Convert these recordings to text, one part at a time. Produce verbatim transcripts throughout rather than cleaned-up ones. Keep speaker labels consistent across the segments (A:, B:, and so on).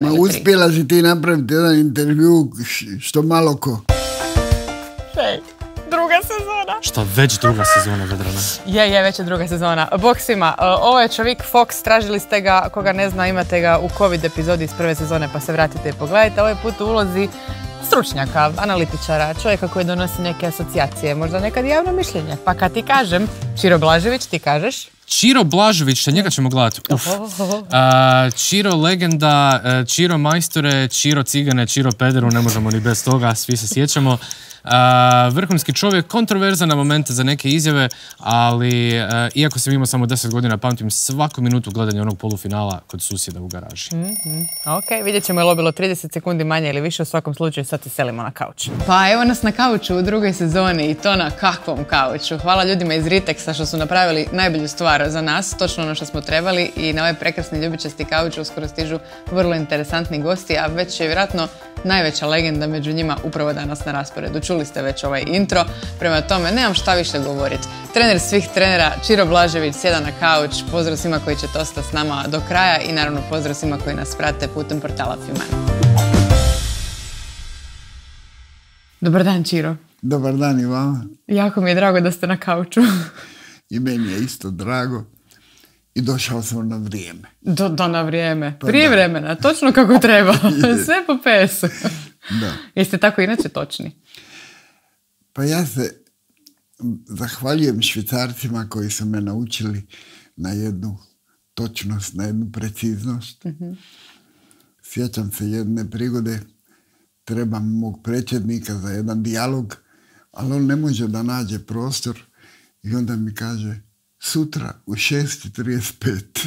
A: Ma uspjela si ti napraviti jedan intervju što malo ko.
B: Hej, druga sezona.
C: Šta, već druga sezona, Vedrana?
B: Je, je, već je druga sezona. Bog svima, ovo je čovjek Fox, tražili ste ga, koga ne zna, imate ga u COVID epizodi iz prve sezone, pa se vratite i pogledajte. Ovaj put u ulozi stručnjaka, analitičara, čovjeka koji donosi neke asocijacije, možda nekad javno mišljenje. Pa kad ti kažem, Čiro Blažević, ti kažeš?
C: Čiro Blažević, njega ćemo gledati. Uf. A, Čiro legenda, Čiro majstore, Čiro cigane, Čiro pederu, ne možemo ni bez toga, svi se sjećamo. Uh, vrhunski čovjek, kontroverzan na momente za neke izjave, ali uh, iako sam imao samo deset godina, pamtim svaku minutu gledanja onog polufinala kod susjeda u garaži.
B: Mm-hmm. Ok, vidjet ćemo je li bilo trideset sekundi manje ili više, u svakom slučaju sad se selimo na kauč. Pa evo nas na kauču u drugoj sezoni i to na kakvom kauču. Hvala ljudima iz Ritexa što su napravili najbolju stvar za nas, točno ono što smo trebali, i na ovaj prekrasni ljubičasti kauč uskoro stižu vrlo interesantni gosti, a već je vjerojatno najveća legenda među njima upravo danas na rasporedu. Čuli ste već ovaj intro, prema tome nemam šta više govoriti. Trener svih trenera, Čiro Blažević, sjeda na kauč. Pozdrav svima koji ćete ostati s nama do kraja i naravno pozdrav svima koji nas prate putem portala Fiman. Dobar dan, Čiro.
A: Dobar dan i vama.
B: Jako mi je drago da ste na kauču.
A: I meni je isto drago. I došao sam na vrijeme.
B: Do, do na vrijeme. Pa prije da. Vremena, točno kako treba. Sve po pesu. Da. Jeste tako inače točni?
A: Pa ja se zahvaljujem Švicarcima koji su me naučili na jednu točnost, na jednu preciznost. Mm-hmm. Sjećam se jedne prigode, trebam mog predsjednika za jedan dijalog, ali on ne može da nađe prostor i onda mi kaže: sutra u šest i trideset pet.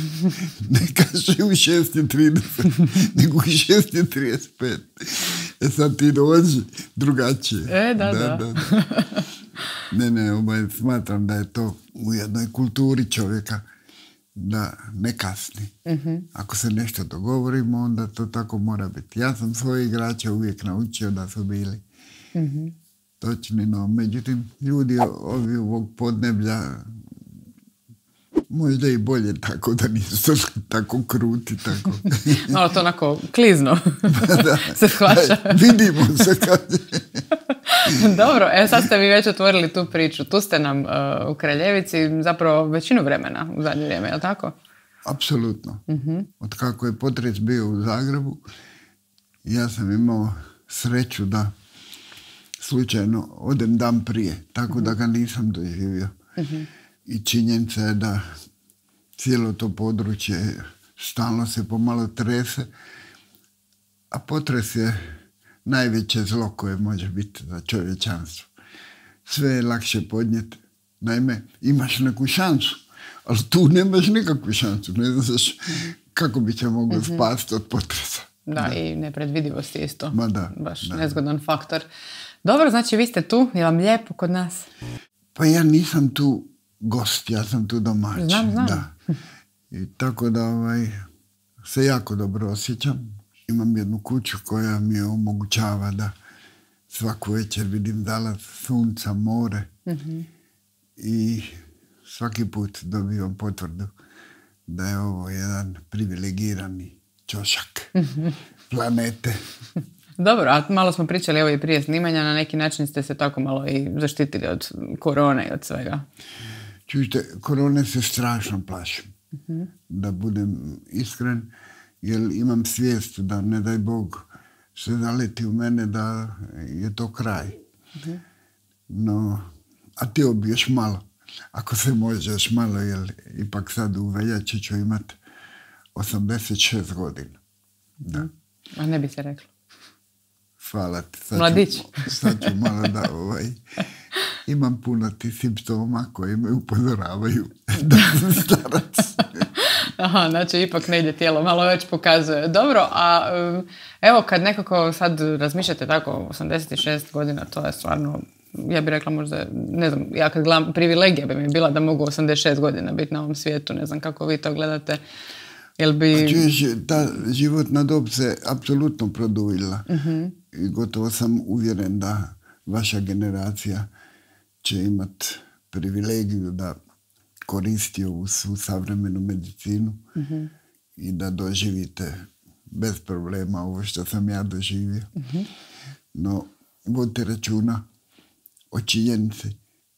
A: Ne kaže u šest i trideset, nego u šest i trideset pet. E sad ti dođi drugačije.
B: E, da, da. da. da, da.
A: Ne, ne, obaj, smatram da je to u jednoj kulturi čovjeka da ne kasni. Mm-hmm. Ako se nešto dogovorimo, onda to tako mora biti. Ja sam svoje igrače uvijek naučio da su bili mm-hmm. točni, no međutim, ljudi ovi ovog podneblja možda i bolje tako da nisu tako kruti, tako.
B: Malo to onako klizno
A: da,
B: se shvaća.
A: Vidimo se kad...
B: Dobro, e sad ste vi već otvorili tu priču. Tu ste nam uh, u Kraljevici zapravo većinu vremena u zadnje vrijeme, je li tako?
A: Apsolutno. Uh-huh. Od kako je potres bio u Zagrebu, ja sam imao sreću da slučajno odem dan prije, tako uh-huh. da ga nisam doživio. Uh-huh. I činjenica je da cijelo to područje stalno se pomalo trese, a potres je najveće zlo koje može biti za čovječanstvo. Sve je lakše podnijeti. Naime, imaš neku šansu, ali tu nemaš nikakvu šansu. Ne znaš kako bi će moglo mm-hmm. spasti od potresa.
B: Da, da, i nepredvidivost je isto.
A: Ma da.
B: Baš
A: da.
B: nezgodan faktor. Dobro, znači vi ste tu, je vam lijepo kod nas?
A: Pa ja nisam tu gost, ja sam tu domaćin.
B: Znam, znam.
A: Da. I tako da ovaj, se jako dobro osjećam. Imam jednu kuću koja mi omogućava da svaku večer vidim zalaz sunca, more. Mm-hmm. I svaki put dobivam potvrdu da je ovo jedan privilegirani ćošak mm-hmm. planete.
B: Dobro, a malo smo pričali evo i prije snimanja, na neki način ste se tako malo i zaštitili od korone i od svega.
A: Čujte, korone se strašno plašim. Mm-hmm. Da budem iskren, jer imam svijest da, ne daj Bog, se zaleti u mene da je to kraj. Mm-hmm. No, a ti bi još malo, ako se može još malo, jer ipak sad u veljači ću imat osamdeset šest godina. Da.
B: A ne bi se reklo.
A: Hvala ti. Sad
B: Mladić.
A: Ću, sad ću malo da ovaj, imam puno ti simptoma koji me upozoravaju da sam starac.
B: Aha, znači ipak ne ide tijelo, malo već pokazuje. Dobro, a evo kad nekako sad razmišljate tako, osamdeset šest godina, to je stvarno, ja bih rekla možda, ne znam, ja kad gledam, privilegija bi mi bila da mogu osamdeset šest godina biti na ovom svijetu, ne znam kako vi to gledate. Jel bi...
A: A čuješ, ta životna dob se apsolutno produljila. Uh-huh. I gotovo sam uvjeren da vaša generacija će imat privilegiju da koristi ovu svu savremenu medicinu uh-huh. i da doživite bez problema ovo što sam ja doživio. Uh-huh. No, vodite računa o činjenici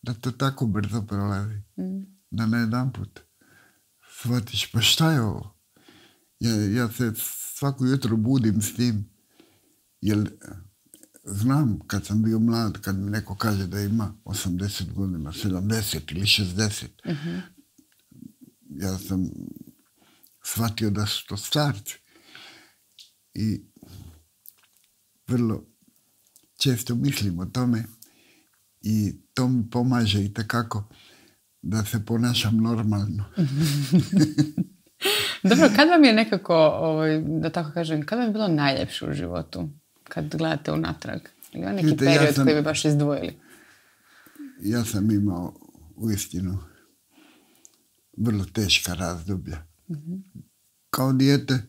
A: da to tako brzo prolazi. Uh-huh. Da na jedan put shvatiš, pa šta je ovo? Ja, ja se svako jutro budim s tim, jer znam kad sam bio mlad, kad mi neko kaže da ima osamdeset godina, sedamdeset ili šezdeset, uh-huh. ja sam shvatio da su to starci. I vrlo često mislim o tome i to mi pomaže i tekako da se ponašam normalno.
B: Dobro, kad vam je nekako, ovaj, da tako kažem, kad vam je bilo najljepše u životu? Kad gledate unatrag? Ili je neki Vidite, period ja sam, koji bi baš izdvojili?
A: Ja sam imao uistinu vrlo teška razdoblja. Mm-hmm. Kao dijete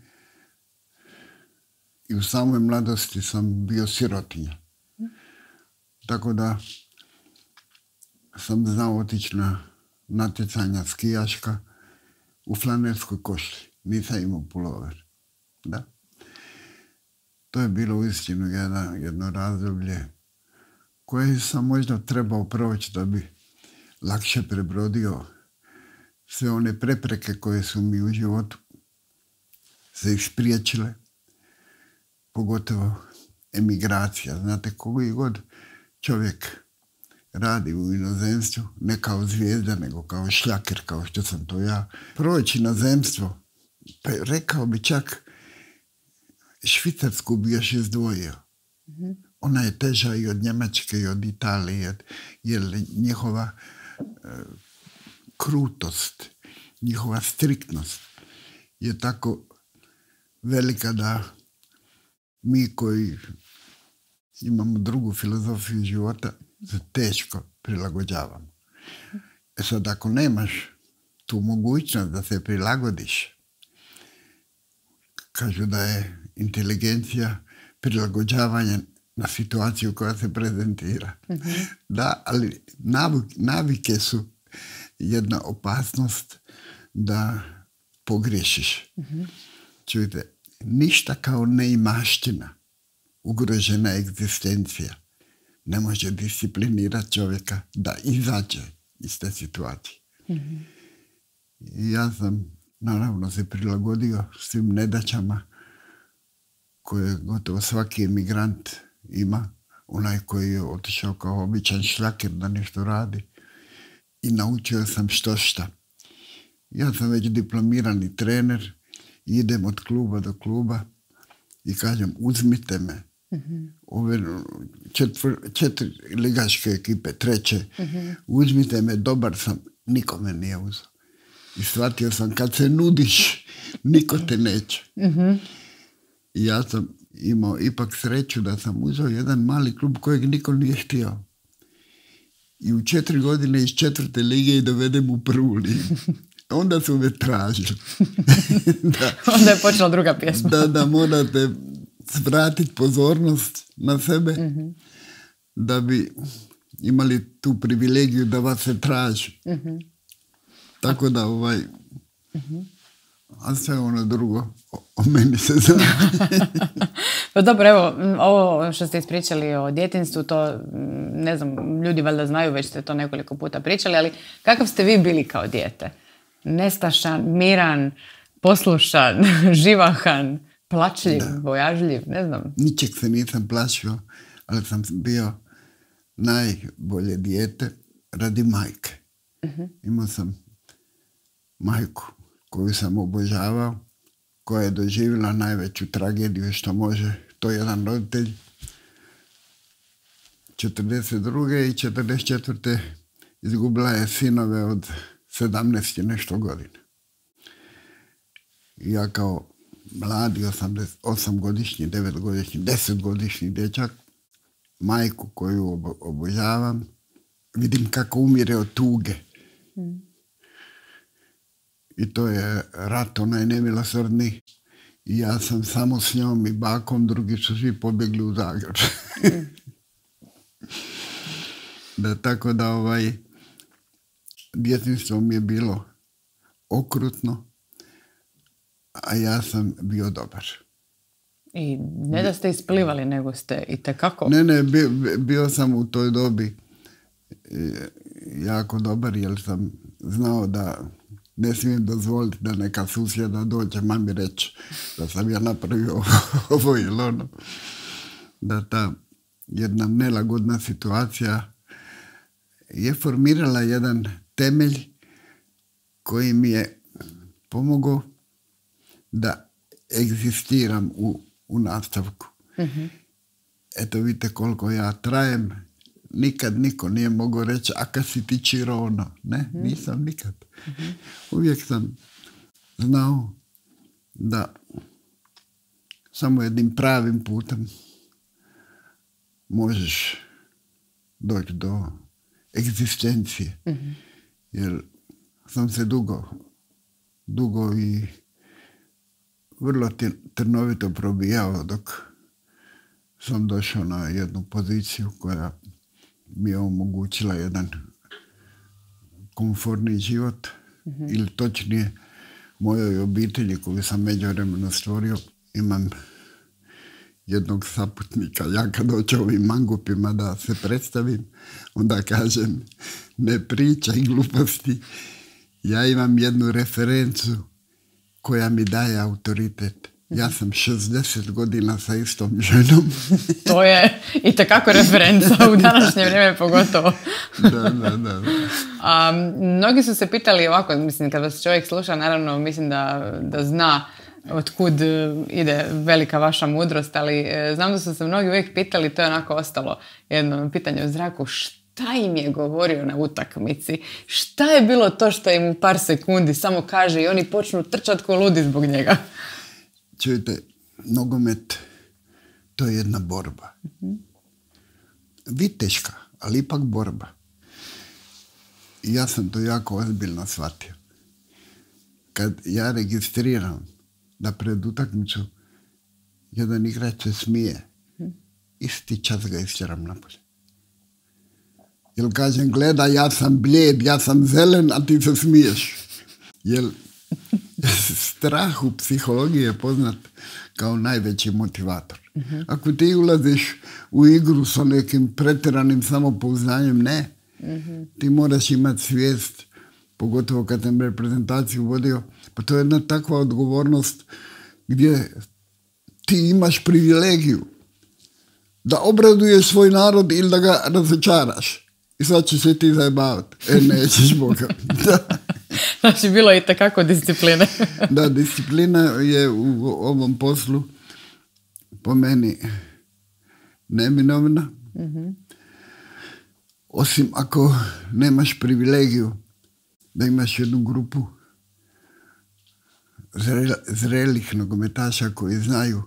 A: i u samoj mladosti sam bio sirotinja. Mm-hmm. Tako da sam znao otići na natjecanja skijaška u flanelskoj košulji. Nisam imao pulover. Da. To je bilo uistinu jedno, jedno razdoblje koje sam možda trebao proći da bi lakše prebrodio sve one prepreke koje su mi u životu se ispriječile. Pogotovo emigracija. Znate, koji god čovjek radi u inozemstvu, ne kao zvijezda, nego kao šljaker, kao što sam to ja. Proći inozemstvo, pa rekao bi čak Švicarsku bi još izdvojio. Mm-hmm. Ona je teža i od Njemačke i od Italije, jer njihova e, krutost, njihova striktnost je tako velika da mi koji imamo drugu filozofiju života se teško prilagođavamo. E sad, ako nemaš tu mogućnost da se prilagodiš, kažu da je inteligencija prilagođavanje na situaciju koja se prezentira. Mm-hmm. Da, ali navik, navike su jedna opasnost da pogriješiš. Mm-hmm. Čujte, ništa kao neimaština, ugrožena egzistencija ne može disciplinirati čovjeka da izađe iz te situacije. Mm-hmm. I ja sam naravno se prilagodio svim nedaćama koje gotovo svaki emigrant ima, onaj koji je otišao kao običan šljaker da nešto radi, i naučio sam što šta. Ja sam već diplomirani trener, idem od kluba do kluba i kažem, uzmite me. Mm-hmm. Ove četvr, četiri ligaške ekipe, treće, mm-hmm. uzmite me, dobar sam, niko me nije uzeo. I shvatio sam, kad se nudiš, niko te neće. Mm-hmm. I ja sam imao ipak sreću da sam uzeo jedan mali klub kojeg niko nije htio. I u četiri godine iz četvrte lige i dovedem u prvu ligu. Onda su me tražili. da,
B: Onda je počela druga pjesma.
A: da, da morate vratiti pozornost na sebe, mm-hmm. da bi imali tu privilegiju da vas se traži. Mm-hmm. Tako da ovaj... Mm-hmm. A sve ono drugo o, o meni se zna.
B: Pa dobro, evo, ovo što ste ispričali o djetinjstvu, to, ne znam, ljudi valjda znaju, već ste to nekoliko puta pričali, ali kakav ste vi bili kao dijete? Nestašan, miran, poslušan, živahan, plačljiv, da. Bojažljiv, ne znam.
A: Ničeg se nisam plašio, ali sam bio najbolje dijete radi majke. Uh-huh. Imao sam majku koju sam obožavao, koja je doživjela najveću tragediju što može to jedan roditelj. četrdeset druge i četrdeset četvrte izgubila je sinove od sedamnaest i nešto godina. I ja kao mladi osamdeset osam godišnji, devet godišnji, deset godišnji dječak, majku koju obo- obožavam, vidim kako umire od tuge. Mm. I to je rat onaj nemilosrdni. I ja sam samo s njom i bakom, drugi su svi pobjegli u Zagreb. Mm. da, tako da ovaj djetinjstvo mi je bilo okrutno, a ja sam bio dobar.
B: I ne da ste isplivali, nego ste i tekako...
A: Ne, ne, bio, bio sam u toj dobi jako dobar, jer sam znao da ne smijem dozvoliti da neka susjeda dođe mami reći da sam ja napravio ovo ili ono. Da ta jedna nelagodna situacija je formirala jedan temelj koji mi je pomogao da egzistiram u, u nastavku. Mm-hmm. Eto vidite koliko ja trajem. Nikad niko nije mogao reći, a kad si ti Čiro ono. Ne, mm-hmm. nisam nikad. Mm-hmm. Uvijek sam znao da samo jednim pravim putem možeš doći do egzistencije. Mm-hmm. Jer sam se dugo, dugo i vrlo trnovito probijao dok sam došao na jednu poziciju koja mi je omogućila jedan komfortni život, mm-hmm. ili točnije mojoj obitelji koju sam međuvremeno stvorio. Imam jednog saputnika. Ja kad dođu ovim mangupima da se predstavim, onda kažem ne pričaj gluposti. Ja imam jednu referencu koja mi daje autoritet. Ja sam šezdeset godina sa istom ženom.
B: To je itekako referenca u današnje vrijeme pogotovo.
A: Da, da, da.
B: A, mnogi su se pitali ovako, mislim, kad vas čovjek sluša, naravno mislim da, da zna otkud ide velika vaša mudrost, ali znam da su se mnogi uvijek pitali, to je onako ostalo jedno pitanje u zraku, šta im je govorio na utakmici? Šta je bilo to što im u par sekundi samo kaže i oni počnu trčati ko ludi zbog njega?
A: Čujte, nogomet, to je jedna borba. Mm-hmm. Viteška, ali ipak borba. I ja sam to jako ozbiljno shvatio. Kad ja registriram da pred utakmicu jedan igrač se smije, mm-hmm. isti čas ga istjeram napolje. Jer kažem, gleda, ja sam blijed, ja sam zelen, a ti se smiješ. Jer strah u psihologiji je poznat kao najveći motivator. Uh-huh. Ako ti ulaziš u igru sa nekim pretjeranim samopouznanjem, ne. Uh-huh. Ti moraš imati svijest, pogotovo kad sam reprezentaciju vodio, pa to je jedna takva odgovornost gdje ti imaš privilegiju da obraduješ svoj narod ili da ga razočaraš. I sad ćeš se ti zajebavati. E, nećeš, Boga. Da.
B: Znači, bilo je i takako discipline.
A: Da, disciplina je u ovom poslu po meni neminovna. Mm-hmm. Osim ako nemaš privilegiju da imaš jednu grupu zre, zrelih nogometaša koji znaju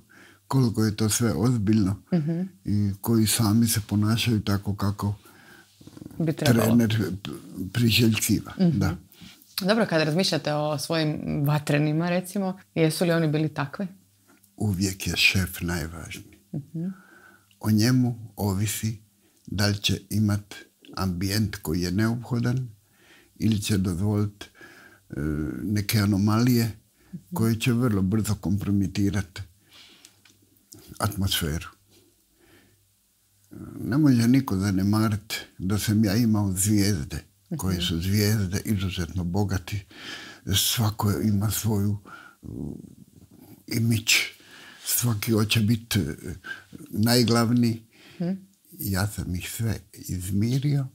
A: koliko je to sve ozbiljno, mm-hmm. i koji sami se ponašaju tako kako
B: bi trebalo.
A: Trener priželjkiva. Mm-hmm. Da.
B: Dobro, kada razmišljate o svojim vatrenima, recimo, jesu li oni bili takvi?
A: Uvijek je šef najvažniji. Mm-hmm. O njemu ovisi da li će imati ambijent koji je neophodan ili će dozvoliti e, neke anomalije, mm-hmm. koje će vrlo brzo kompromitirati atmosferu. Ne može niko zanemariti da sam ja imao zvijezde, koje su zvijezde izuzetno bogati. Svako ima svoju uh, imidž. Svaki hoće biti uh, najglavniji. Hmm. Ja sam ih sve izmirio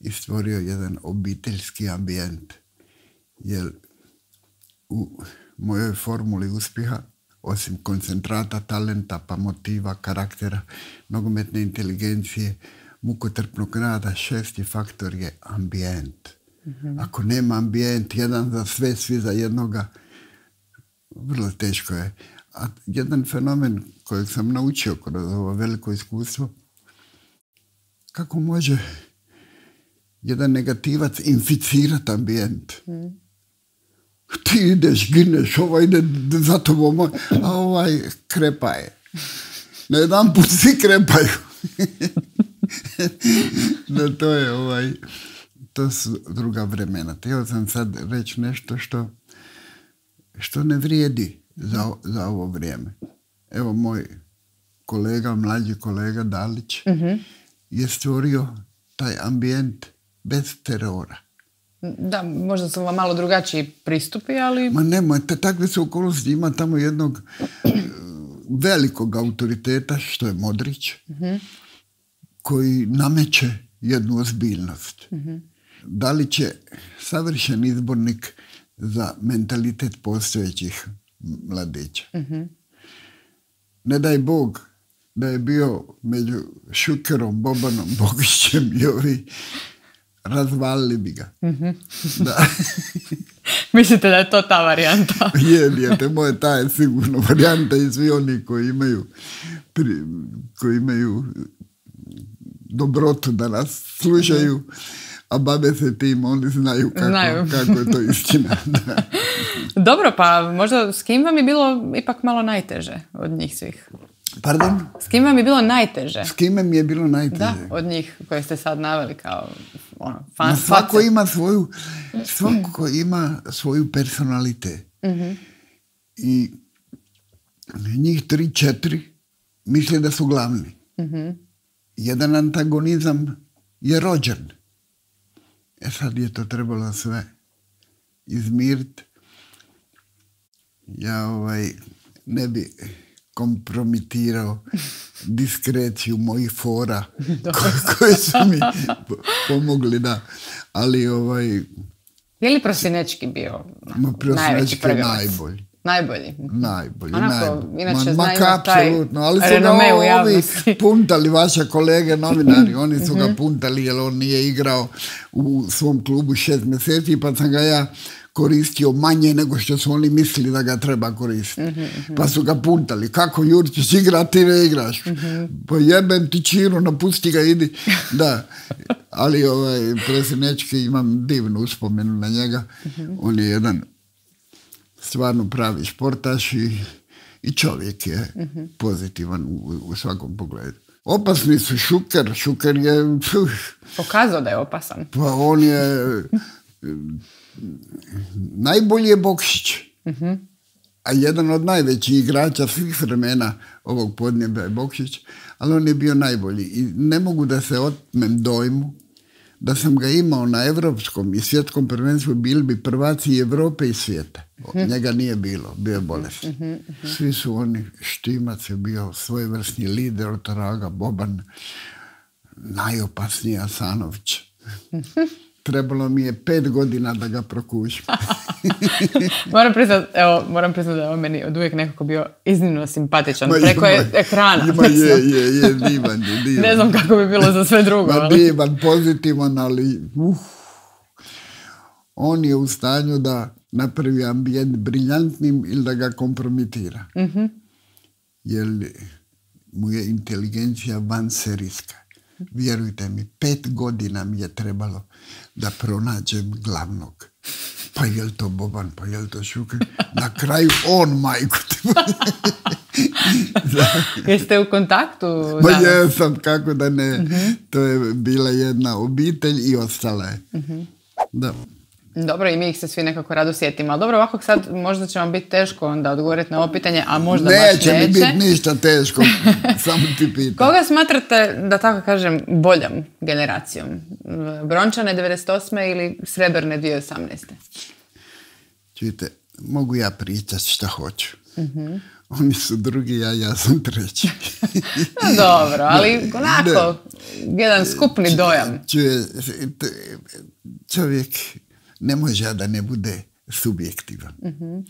A: i stvorio jedan obiteljski ambijent. Jer u mojoj formuli uspjeha, osim koncentrata, talenta, pa motiva, karaktera, nogometne inteligencije, mukotrpnog rada, šesti faktor je ambijent. Mm-hmm. Ako nema ambijent, jedan za sve, svi za jednoga, vrlo teško je. A jedan fenomen kojeg sam naučio kroz ovo veliko iskustvo, kako može jedan negativac inficirati ambijent. Mm. Ti ideš, gineš, ovaj ide za tobom, a ovaj krepa je. Na jedan put svi krepaju. No, to je ovaj, to su druga vremena. Htio sam sad reći nešto što, što ne vrijedi za, za ovo vrijeme. evo moj kolega, mlađi kolega Dalić, mm-hmm. je stvorio taj ambijent bez terora.
B: Da, možda su vam malo drugačiji pristupi, ali...
A: Ma nemoj, te takve su okolnosti. Ima tamo jednog velikog autoriteta, što je Modrić, mm-hmm. koji nameće jednu ozbiljnost. Mm-hmm. Dalić je savršen izbornik za mentalitet postojećih mladića. Mm-hmm. Ne daj Bog da je bio među Šukerom, Bobanom, Bogićem i ovi, razvalili bi ga. Mm-hmm. Da.
B: Mislite da je to ta varijanta?
A: je, je, te moje ta je sigurno varijanta i svi oni koji imaju, pri, koji imaju dobrotu da nas slušaju, mm-hmm. a babe se tim, oni znaju kako, znaju. kako je to istina. Da.
B: Dobro, pa možda s kim vam je bilo ipak malo najteže od njih svih?
A: Pardon?
B: S kim vam je bilo najteže?
A: S kime mi je bilo najteže?
B: Da, od njih koje ste sad naveli kao ono, fan.
A: Svako ima svoju, svako ima svoju personalitet. Mm-hmm. I njih tri, četiri misle da su glavni. Mm-hmm. Jedan antagonizam je rođen. E sad je to trebalo sve izmiriti. Ja ovaj, ne bi kompromitirao diskreciju mojih fora koje, koje su mi pomogli, da. Ali ovaj...
B: Je li Prosinečki bio najveći prgavac?
A: Najbolji.
B: Najbolji?
A: Najbolji,
B: Onako,
A: najbolji.
B: inače
A: Ma, ma apsolutno, ali su ga ovi puntali, vaše kolege novinari, oni su ga puntali jer on nije igrao u svom klubu šest mjeseci, pa sam ga ja koristio manje nego što su oni mislili da ga treba koristiti. Mm-hmm. Pa su ga puntali. Kako Jurčić igra, ti ne igraš. Mm-hmm. Pa jebem ti Čiru, napusti ga, idi. Da. Ali ovaj, Presinečki, imam divnu uspomenu na njega. Mm-hmm. On je jedan stvarno pravi športaš i, i čovjek je mm-hmm. pozitivan u, u svakom pogledu. Opasni su Šuker. Šuker je...
B: Pokazao da je opasan.
A: Pa on je... najbolji je Bokšić, uh-huh. a jedan od najvećih igrača svih vremena ovog podneblja je Bokšić, ali on je bio najbolji i ne mogu da se otmem dojmu da sam ga imao na evropskom i svjetskom prvenstvu, bili bi prvaci Evrope i svijeta. Uh-huh. Njega nije bilo, bio je bolestan. Uh-huh. Uh-huh. Svi su oni, Štimac je bio svojevrsni lider, Otoraga, Boban, najopasniji Asanović. Uh-huh. Trebalo mi je pet godina da ga prokušim.
B: moram priznat, evo, moram priznat da je on meni od uvijek nekako bio iznimno simpatičan. Ma, preko ima, je ekrana.
A: Ima, je, je, je, divan je, divan.
B: Ne znam kako bi bilo za sve drugo.
A: Ma, divan, pozitivan, ali uh, on je u stanju da napravi ambijent briljantnim ili da ga kompromitira. Mm-hmm. Jer mu je inteligencija vanserijska. Vjerujte mi, pet godina mi je trebalo da pronađem glavnog. Pa je li to Boban, pa je li to Šuker? Na kraju on, majku.
B: Jeste u kontaktu?
A: Pa jesam, kako da ne. Uh-huh. To je bila jedna obitelj i ostala je. Uh-huh. Da.
B: Dobro, i mi ih se svi nekako rado sjetimo. Ali dobro, ovako sad možda će vam biti teško onda odgovoriti na ovo pitanje, a možda
A: neće,
B: baš neće.
A: Neće mi biti ništa teško, samo ti pitam.
B: Koga smatrate, da tako kažem, boljom generacijom? Brončane devedeset osme ili Srebrne dvije tisuće osamnaeste?
A: Čujte, mogu ja pričati šta hoću. Uh-huh. Oni su drugi, a ja sam treći.
B: No, dobro, ali onako, ne, jedan skupni dojam.
A: Čuje, čovjek ne može da ne bude subjektivan. Uh-huh.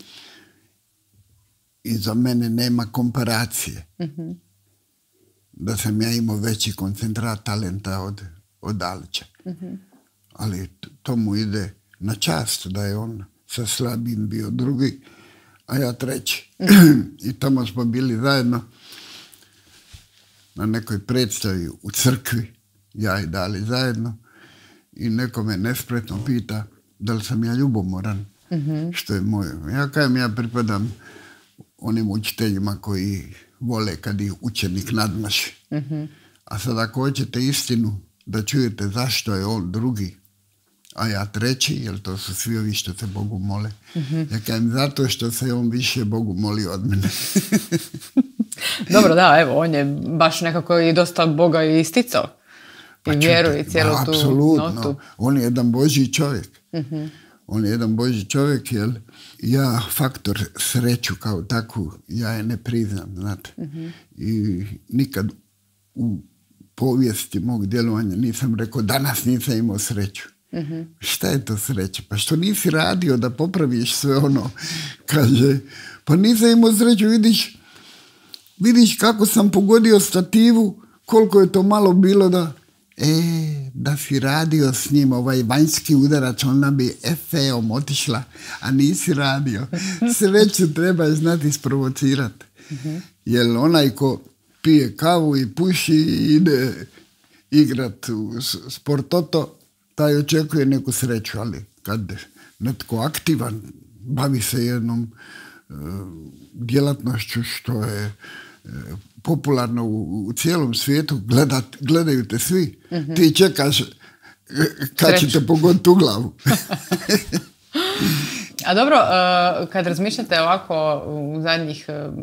A: I za mene nema komparacije. Uh-huh. Da sam ja imao veći koncentrat talenta od, od Dalića. Uh-huh. Ali to mu ide na čast da je on sa slabim bio drugi, a ja treći. Uh-huh. I tamo smo bili zajedno na nekoj predstavi u crkvi, ja i Dali zajedno, i neko me nespretno pita da li sam ja ljubomoran, mm-hmm. što je moje. Ja kajem, ja pripadam onim učiteljima koji vole kad ih učenik nadmaši. Mm-hmm. A sad ako hoćete istinu da čujete zašto je on drugi, a ja treći, jer to su svi ovi što se Bogu mole. Mm-hmm. Ja kajem, zato što se on više Bogu moli od mene.
B: Dobro, da, evo, on je baš nekako i dosta Boga i isticao. I vjeruje cijelu tu
A: apsolutno.
B: notu.
A: On je jedan Božji čovjek. Uh-huh. On je jedan Božji čovjek, jer ja faktor sreću kao takvu, ja je ne priznam, znate. Uh-huh. I nikad u povijesti mog djelovanja nisam rekao danas nisam imao sreću. Uh-huh. Šta je to sreća? Pa što nisi radio da popraviš sve ono? Kaže, pa nisam imao sreću, vidiš, vidiš kako sam pogodio stativu, koliko je to malo bilo da e, da si radio s njim ovaj vanjski udarač, ona bi efeom otišla, a nisi radio. Sreću treba znati isprovocirati. Uh-huh. Jer onaj ko pije kavu i puši i ide igrat u sportoto, taj očekuje neku sreću, ali kad netko aktivan bavi se jednom uh, djelatnošću što je uh, popularno u, u cijelom svijetu, gledat, gledaju te svi, mm-hmm. ti čekaš uh, kad će te pogoditi u glavu.
B: A dobro, uh, kad razmišljate ovako u zadnjih uh,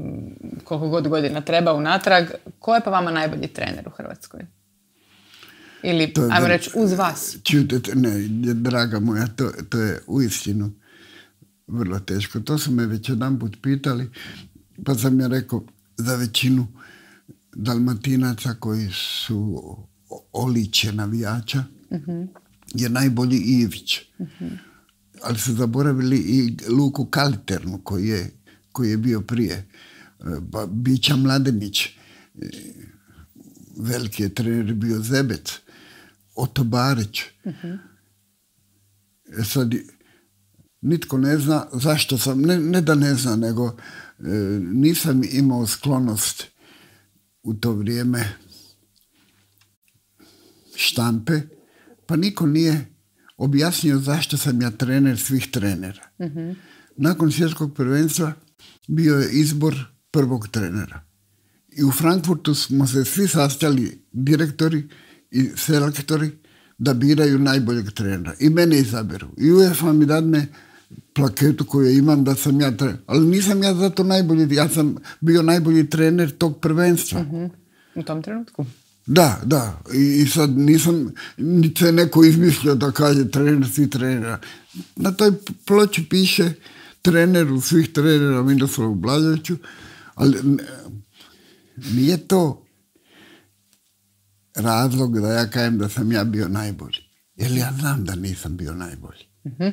B: koliko god godina treba unatrag, ko je pa vama najbolji trener u Hrvatskoj? Ili, to ajmo reći, uz vas.
A: Čujte, ne, draga moja, to, to je uistinu vrlo teško. To su me već jedan put pitali, pa sam ja rekao za većinu Dalmatinaca koji su oličje navijača, uh-huh. je najbolji Ivić. Uh-huh. Ali su zaboravili i Luku Kaliternu koji je, koji je bio prije. Pa Bića Mladenić, veliki je trener bio Zebec, Oto Barić. Uh-huh. E sad, nitko ne zna zašto sam, ne, ne da ne zna, nego e, nisam imao sklonost u to vrijeme štampe, pa niko nije objasnio zašto sam ja trener svih trenera. Uh-huh. Nakon svjetskog prvenstva bio je izbor prvog trenera. I u Frankfurtu smo se svi sastali, direktori i selektori, da biraju najboljeg trenera. I mene izaberu. I UEFA mi dadne plaketu koju imam da sam ja trener. Ali nisam ja zato najbolji. Ja sam bio najbolji trener tog prvenstva.
B: Uh-huh. U tom trenutku?
A: Da, da. I, i sad nisam niti se neko izmislio da kaže trener svih trenera. Na toj ploči piše treneru svih trenera Miroslavu Blaževiću, ali nije to razlog da ja kažem da sam ja bio najbolji. Jer ja znam da nisam bio najbolji. Uh-huh.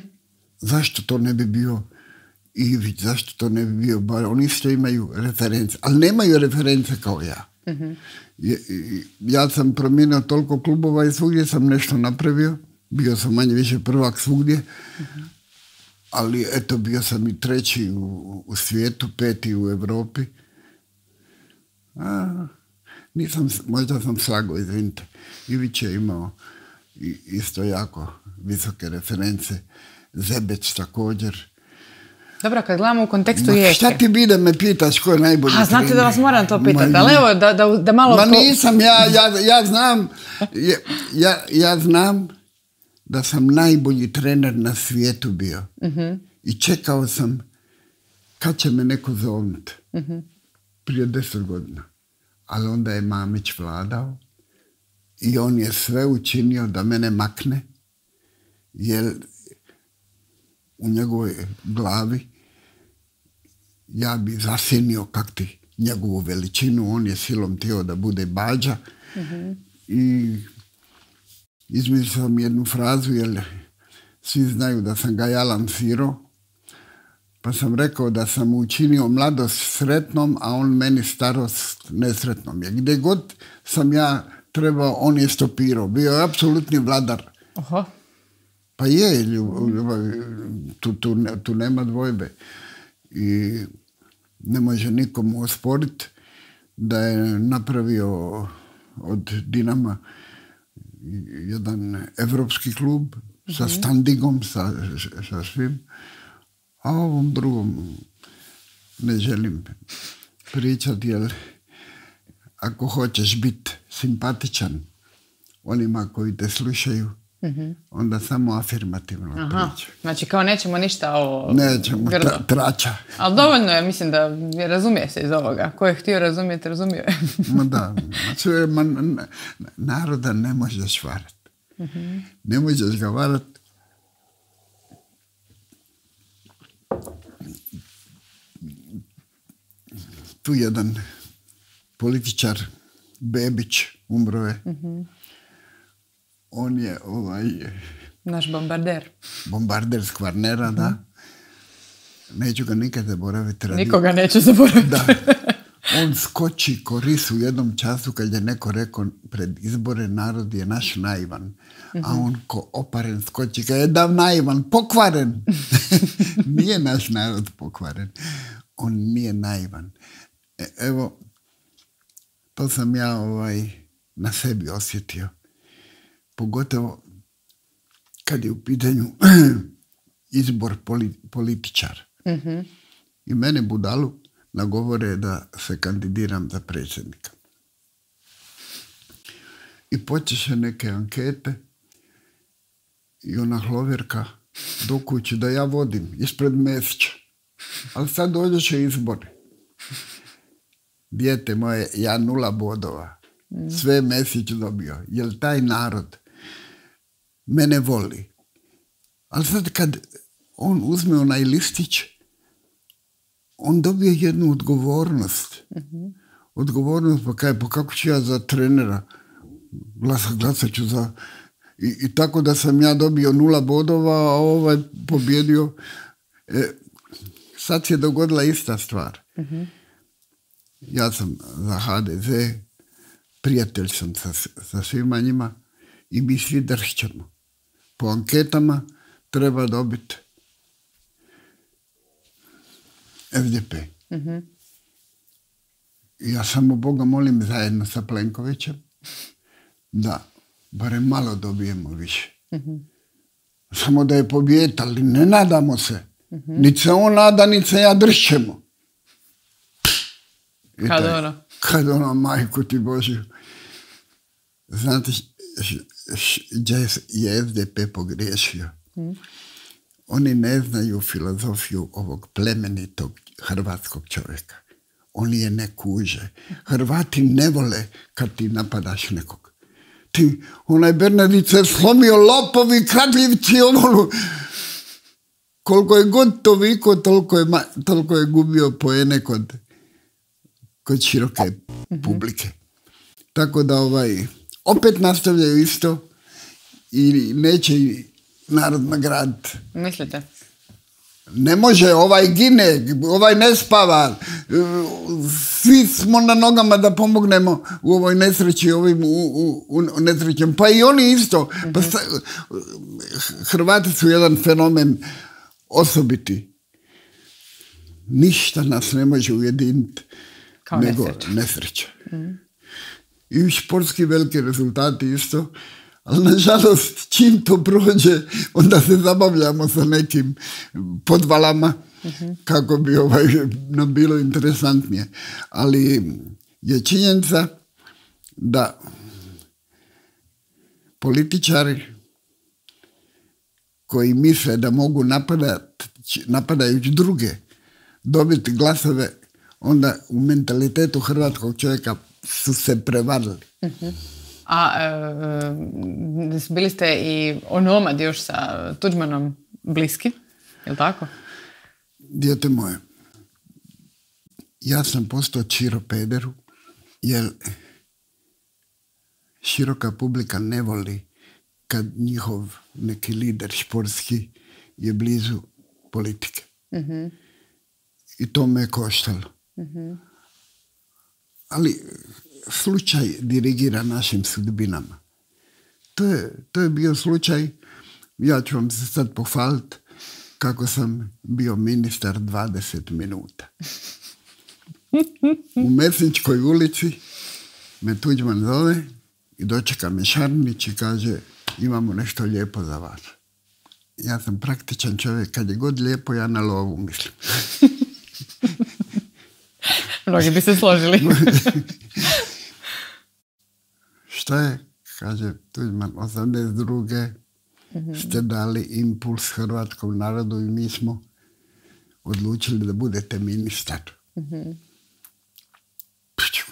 A: Zašto to ne bi bio Ivić, zašto to ne bi bio Bar? Oni isto imaju reference, ali nemaju reference kao ja. Uh-huh. Ja, ja sam promijenio toliko klubova i svugdje sam nešto napravio. Bio sam manje više prvak svugdje. Uh-huh. Ali eto, bio sam i treći u, u svijetu, peti u Europi. A, nisam, možda sam slago, izvinite. Ivić je imao isto jako visoke reference. Zebec također.
B: Dobro, kad gledamo u kontekstu
A: Ma,
B: Rijeke.
A: Šta ti bi da me pitaš ko je najbolji
B: A, znate
A: trener?
B: da vas moram to pitati, ali evo, da, da, da malo...
A: Ma nisam, ja, ja, ja znam, ja, ja, ja znam da sam najbolji trener na svijetu bio. Uh-huh. I čekao sam kad će me neko zovnuti. Uh-huh. Prije deset godina. Ali onda je Mamić vladao i on je sve učinio da mene makne, jer u njegovoj glavi ja bi zasjenio kak ti njegovu veličinu, on je silom htio da bude bađa. Uh-huh. I izmislio sam jednu frazu, jer svi znaju da sam ga ja lansirao, pa sam rekao da sam učinio mladost sretnom, a on meni starost nesretnom. Jer gdje god sam ja trebao, on je stopirao. Bio je apsolutni vladar.
B: Aha.
A: Pa je, tu, tu, tu nema dvojbe. I ne može nikomu osporiti da je napravio od Dinama jedan evropski klub, mm-hmm. sa standingom, sa, sa svim. A o ovom drugom ne želim pričati, jer ako hoćeš biti simpatičan onima koji te slušaju, mm-hmm. onda samo afirmativno
B: Aha.
A: priča.
B: Znači kao nećemo ništa ovo
A: Nećemo,
B: grdo.
A: tra, trača.
B: Ali dovoljno je, mislim da razumije se iz ovoga. Ko je htio razumjeti, razumio je.
A: Ma da, znači, ma, naroda ne možeš varati. Mm-hmm. Ne možeš ga varati. Tu jedan političar, Bebić, umro je. Mm-hmm. On je ovaj...
B: Naš bombarder.
A: Bombarder s Kvarnera, mm-hmm. da. Neću ga nikad zaboraviti. Radi...
B: Nikoga neću zaboraviti.
A: Da. On skoči ko ris u jednom času kad je neko rekao pred izbore narod je naš naivan. Mm-hmm. A on ko oparen skoči kad je dav naivan, pokvaren. Nije naš narod pokvaren. On nije naivan. E, evo, to sam ja ovaj, na sebi osjetio. Pogotovo kad je u pitanju izbor poli, političara. Mm-hmm. I mene budalu nagovore da se kandidiram za predsjednika. I počeše neke ankete i ona hloverka dokući da ja vodim ispred Mesića. Ali sad dođeše izbori. Dijete moje, ja nula bodova. Sve Mesić dobio. Jer taj narod mene voli. Ali sad kad on uzme onaj listić, on dobije jednu odgovornost. Mm-hmm. Odgovornost, pa kaj, pa kako ću ja za trenera glasat, glasat ću za... I, I tako da sam ja dobio nula bodova, a ovaj pobjedio. E, sad se je dogodila ista stvar. Mm-hmm. Ja sam za ha de ze, prijatelj sam sa, sa svima njima i mi svi dršćemo. Po anketama treba dobiti es de pe. Mm-hmm. Ja samo Boga molim zajedno sa Plenkovićem da barem malo dobijemo više. Mm-hmm. Samo da je pobijeti, ali ne nadamo se. Mm-hmm. Niti se on nada, niti se ja dršćemo. I
B: kad
A: taj,
B: ono?
A: Kad ono, majku ti Božju. Znate, gdje je es de pe pogriješio? Mm. Oni ne znaju filozofiju ovog plemenitog hrvatskog čovjeka. Oni je ne kuže. Hrvati ne vole kad ti napadaš nekog. Ti, onaj Bernardić se slomio, lopovi, kradljivci, ono... Koliko je god to viko, toliko je, toliko je gubio poene kod, kod široke mm-hmm. publike. Tako da ovaj, opet nastavljaju isto i neće i narod nagraditi.
B: Mislite?
A: Ne može, ovaj gine, ovaj ne spava. Svi smo na nogama da pomognemo u ovoj nesreći, ovim u, u, u nesrećem. Pa i oni isto. Mm-hmm. Pa sta, Hrvati su jedan fenomen osobiti. Ništa nas ne može ujediniti nego nesreća. nesreća. Mm. I športski veliki rezultati isto, ali nažalost čim to prođe, onda se zabavljamo sa nekim podvalama mm-hmm. kako bi ovaj, nam bilo interesantnije. Ali je činjenica da političari koji misle da mogu napadati, napadajući druge, dobiti glasove, onda u mentalitetu hrvatskog čovjeka su se prevarili.
B: Uh-huh. A e, bili ste i onomad još sa Tuđmanom bliski, je li tako?
A: Dijete moje, ja sam postao Čiro pederu, jer široka publika ne voli kad njihov neki lider športski je blizu politike. Mm-hmm. I to me je koštalo. Mm-hmm. Ali slučaj dirigira našim sudbinama. To je, to je bio slučaj, ja ću vam se sad pohvaliti kako sam bio ministar dvadeset minuta. U Mesničkoj ulici me Tuđman zove i dočeka me Šarnić i kaže imamo nešto lijepo za vas. Ja sam praktičan čovjek, kad je god lijepo, ja na lovu mislim.
B: Mnogi bi se složili.
A: Šta je? Kaže Tuđman, osamdeset druge mm-hmm. ste dali impuls hrvatskom narodu i mi smo odlučili da budete ministar. Mm-hmm.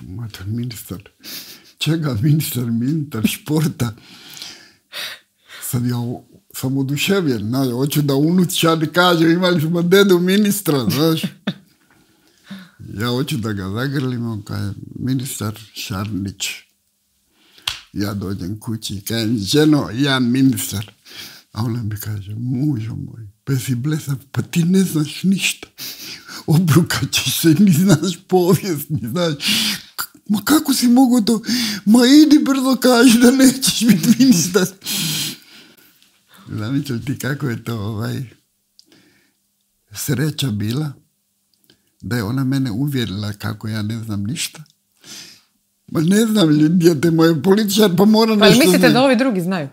A: Mater, ministar. Čega ministar? Ministar športa. Sad ja sam oduševljen. Znaš, hoću da unučani kaže imali smo dedu ministra, znaš. Ja hoću da ga zagrlim, on kaže ministar Šarnić. Ja dođem kući i kažem, ženo, ja ministar. A ona mi kaže, mužo moj, pa si blesav, pa ti ne znaš ništa. Obrukat ćeš se, ni znaš povijest, ni znaš. Ma kako si mogu to? Ma idi brzo kaži da nećeš biti ministar. Zamisli ti kako je to ovaj, sreća bila da je ona mene uvjerila kako ja ne znam ništa. Ma ne znam, djete moje političar, pa mora nešto...
B: Pa mislite znati. Da ovi drugi znaju?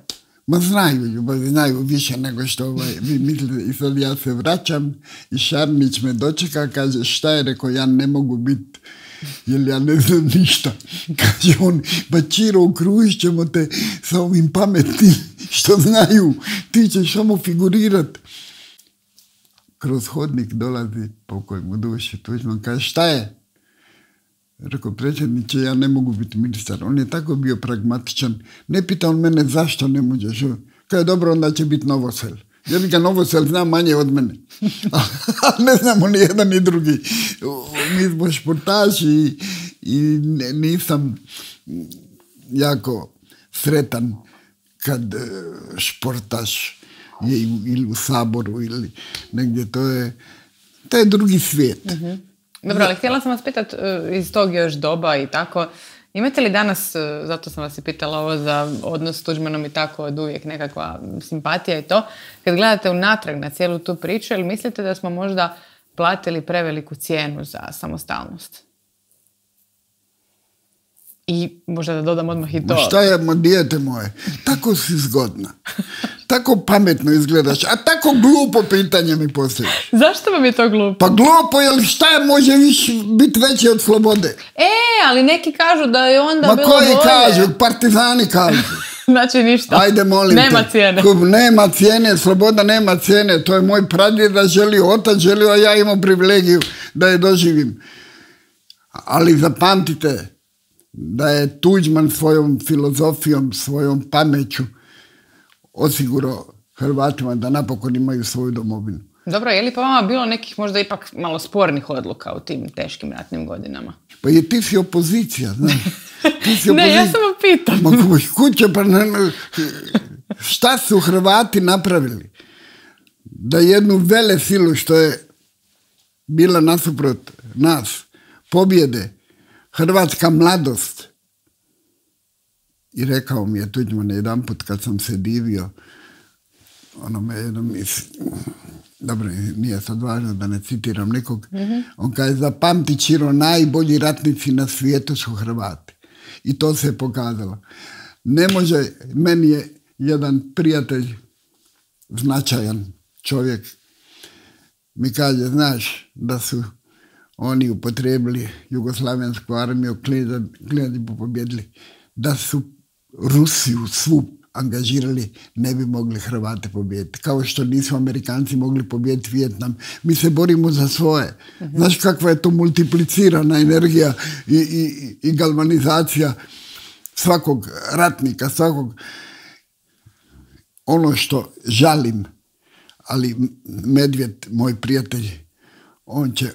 A: Ma znaju, ba, znaju više nego što ovaj, vi mislite. I sad ja se vraćam i Šarnić me dočeka, kaže šta je, rekao, ja ne mogu biti, jer ja ne znam ništa. Kaže on, pa Čiro, ukružit ćemo te sa ovim pametnim što znaju, ti ćeš samo figurirat. Kroz hodnik dolazi pokoj mu duši Tuđman, kaže šta je? Rekao, predsjedniče, ja ne mogu biti ministar. On je tako bio pragmatičan. Ne pita on mene zašto ne možeš. Kaže, dobro, onda će biti Novosel. Ja bih ga Novosel zna manje od mene. Ali ne znamo ni jedan ni drugi. Mi smo športaši i, i nisam jako sretan kad športaš je ili u Saboru ili negdje. To je, to je drugi svijet. Mm-hmm.
B: Dobro, ali htjela sam vas pitati iz tog još doba i tako, imate li danas, zato sam vas i pitala ovo za odnos s Tuđmanom i tako, od uvijek nekakva simpatija i to, kad gledate unatrag na cijelu tu priču, ili mislite da smo možda platili preveliku cijenu za samostalnost? I možda da dodam odmah i to.
A: Ma šta je, ma dijete moje, tako si zgodna. Tako pametno izgledaš, a tako glupo pitanje mi postaviš.
B: Zašto vam je to glupo?
A: Pa glupo, jer šta je može više biti veće od slobode?
B: E, ali neki kažu da je onda
A: ma
B: bilo bolje.
A: Ma koji kažu, partizani kažu.
B: Znači ništa.
A: Ajde, molim
B: nema
A: te.
B: Cijene.
A: Nema cijene, sloboda nema cijene. To je moj pradjeda želio, otac želio, a ja imam privilegiju da je doživim. Ali zapamtite da je Tuđman svojom filozofijom, svojom pameću osigurao Hrvatima da napokon imaju svoju domovinu.
B: Dobro, je li pa vama bilo nekih možda ipak malo spornih odluka u tim teškim ratnim godinama?
A: Pa je ti si opozicija, znaš. Ti si opozicija.
B: Ne, ja samo pitam.
A: Ma kuće, pa ne, šta su Hrvati napravili? Da jednu vele silu što je bila nasuprot nas, pobjede, hrvatska mladost. I rekao mi je Tuđman jedan put kad sam se divio, ono me jedno misli, dobro, nije sad važno da ne citiram nikog, mm-hmm. on kaže, zapamti Čiro, najbolji ratnici na svijetu su Hrvati. I to se je pokazalo. Ne može, meni je jedan prijatelj, značajan čovjek, mi kaže, znaš da su oni upotrijebili jugoslavensku armiju, klijedi po pobjedili, da su Rusiju svu angažirali, ne bi mogli Hrvate pobijediti. Kao što nisu Amerikanci mogli pobijediti Vijetnam. Mi se borimo za svoje. Uh-huh. Znaš kakva je to multiplicirana energija i, i, i galvanizacija svakog ratnika, svakog... Ono što žalim, ali Medvjed, moj prijatelj, on će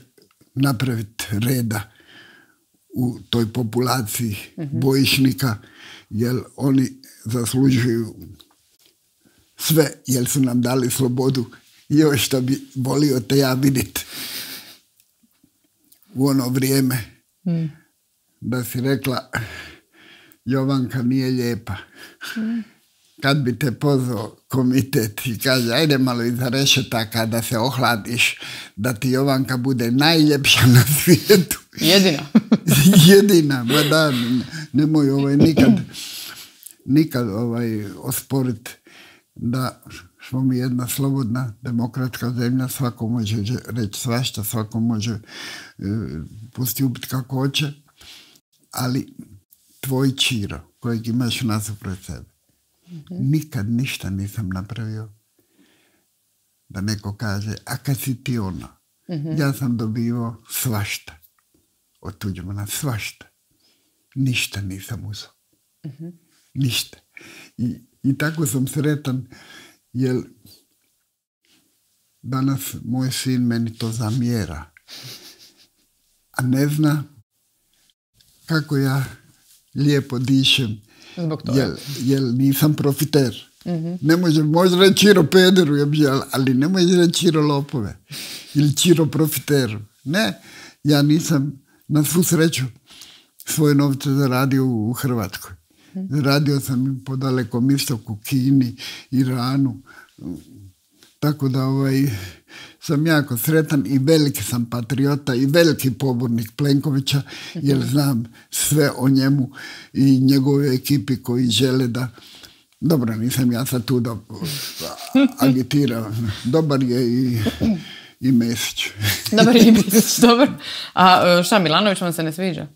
A: napraviti reda u toj populaciji uh-huh. bojišnika, jer oni zaslužuju sve, jer su nam dali slobodu i još što bi volio te ja vidjeti u ono vrijeme mm. da si rekla Jovanka nije lijepa. Mm. Kad bi te pozvao komitet i kaže ajde malo iza rešetaka da se ohladiš, da ti Jovanka bude najljepša na svijetu.
B: Jedina.
A: Jedina, ba da, nemoj ovaj nikad nikad ovaj osporiti da smo mi jedna slobodna demokratska zemlja, svako može reći svašta, svako može e, postupiti kako hoće, ali tvoj Čiro kojeg imaš nasuprot sebe Mm-hmm. Nikad ništa nisam napravio da neko kaže, a kad si ti ono, mm-hmm. ja sam dobivao svašta od Tuđmana, svašta. Ništa nisam uzeo. Mm-hmm. Ništa. I, I tako sam sretan, jer danas moj sin meni to zamjera. A ne zna kako ja lijepo dišem, jer, jer nisam profiter. Mm-hmm. Ne može, može reći Čiro pederu, ali ne može reći Čiro lopove ili Čiro profiteru. Ne, ja nisam na svu sreću svoje novce zaradio u Hrvatskoj. Mm-hmm. Zaradio sam po dalekom istoku, Kini, Iranu. Tako da ovaj, sam jako sretan i veliki sam patriota i veliki pobornik Plenkovića, jer znam sve o njemu i njegove ekipi koji žele da... Dobro, nisam ja sad tu da agitiram. Dobar je i, i Mesić.
B: Dobar je i Mesić, dobro. A šta, Milanović vam se ne sviđa?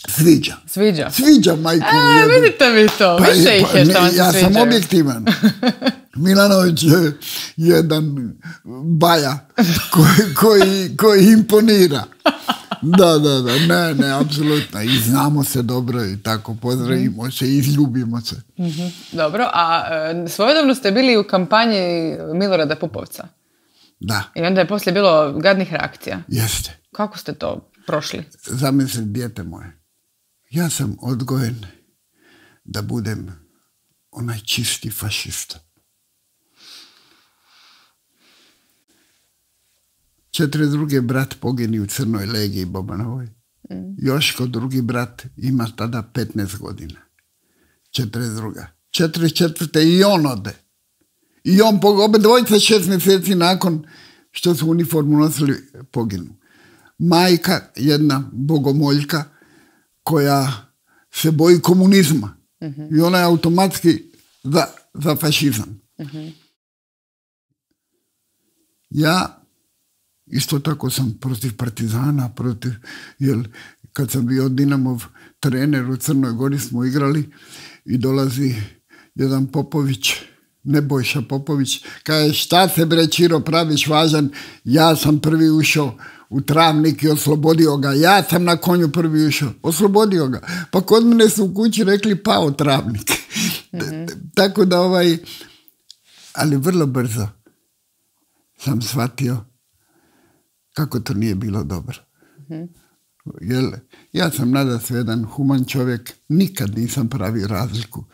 A: Sviđa.
B: Sviđa?
A: Sviđa, majku.
B: A, vidite mi to. Pa, više ih je što vam se
A: ja
B: sviđa.
A: Ja sam objektivan. Milanović je jedan baja koji, koji, koji imponira. Da, da, da, ne, ne, apsolutno. I znamo se dobro i tako pozdravimo se i izljubimo se.
B: Mm-hmm. Dobro, a e, svojedobno ste bili u kampanji Milorada Pupovca.
A: Da.
B: I onda je poslije bilo gadnih reakcija.
A: Jeste.
B: Kako ste to prošli?
A: Zamisli, dijete moje. Ja sam odgojen da budem onaj čisti fašista. Četiri drugi brat pogini u Crnoj legiji Bobanovoj. Mm. Joško drugi brat ima tada petnaest godina. Četiri druga. Četiri četvrte i on ode. I on obe dvojice šest mjeseci nakon što su uniformu nosili poginu. Majka, jedna bogomoljka koja se boji komunizma. Mm-hmm. I ona je automatski za, za fašizam. Mm-hmm. Ja isto tako sam protiv partizana, protiv, jer kad sam bio Dinamov trener u Crnoj Gori smo igrali i dolazi jedan Popović, Nebojša Popović, kaže šta se bre Čiro praviš važan, ja sam prvi ušao u Travnik i oslobodio ga, ja sam na konju prvi ušao, oslobodio ga. Pa kod mene su u kući rekli pao Travnik. Mm-hmm. Tako da ovaj, ali vrlo brzo sam shvatio kako to nije bilo dobro. Mm-hmm. Jer ja sam nadasve jedan human čovjek, nikad nisam pravio razliku.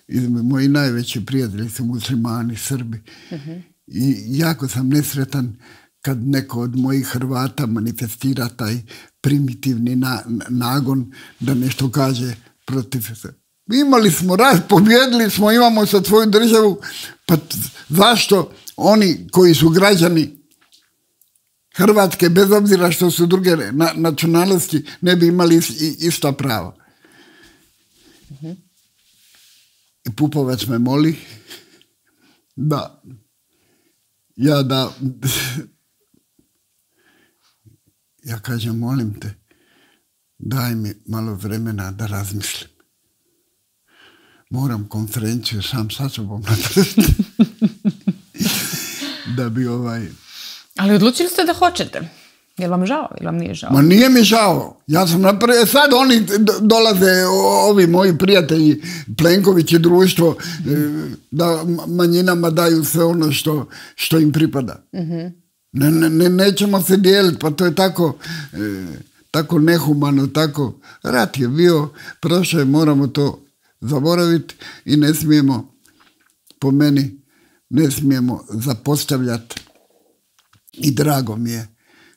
A: I moji najveći prijatelji su muslimani, Srbi. Mm-hmm. I jako sam nesretan kad neko od mojih Hrvata manifestira taj primitivni na, nagon da nešto kaže protiv se. Imali smo rat, pobjedili smo, imamo sad svoju državu, pa zašto oni koji su građani Hrvatske, bez obzira što su druge na, nacionalnosti, ne bi imali ista prava. Mm-hmm. I Pupovac me moli da ja da ja kažem, molim te, daj mi malo vremena da razmislim. Moram konferenciju sam sa sobom napraviti. Da bi ovaj...
B: Ali odlučili ste da hoćete. Je li vam žao ili vam nije žao?
A: Ma nije mi žao. Ja sam napravio, sad oni dolaze, ovi moji prijatelji, Plenković i društvo, da manjinama daju sve ono što, što im pripada. Mm-hmm. Ne, ne, nećemo se dijeliti, pa to je tako, e, tako nehumano, tako. Rat je bio, prošao je, moramo to zaboraviti i ne smijemo, po meni, ne smijemo zapostavljati. I drago mi je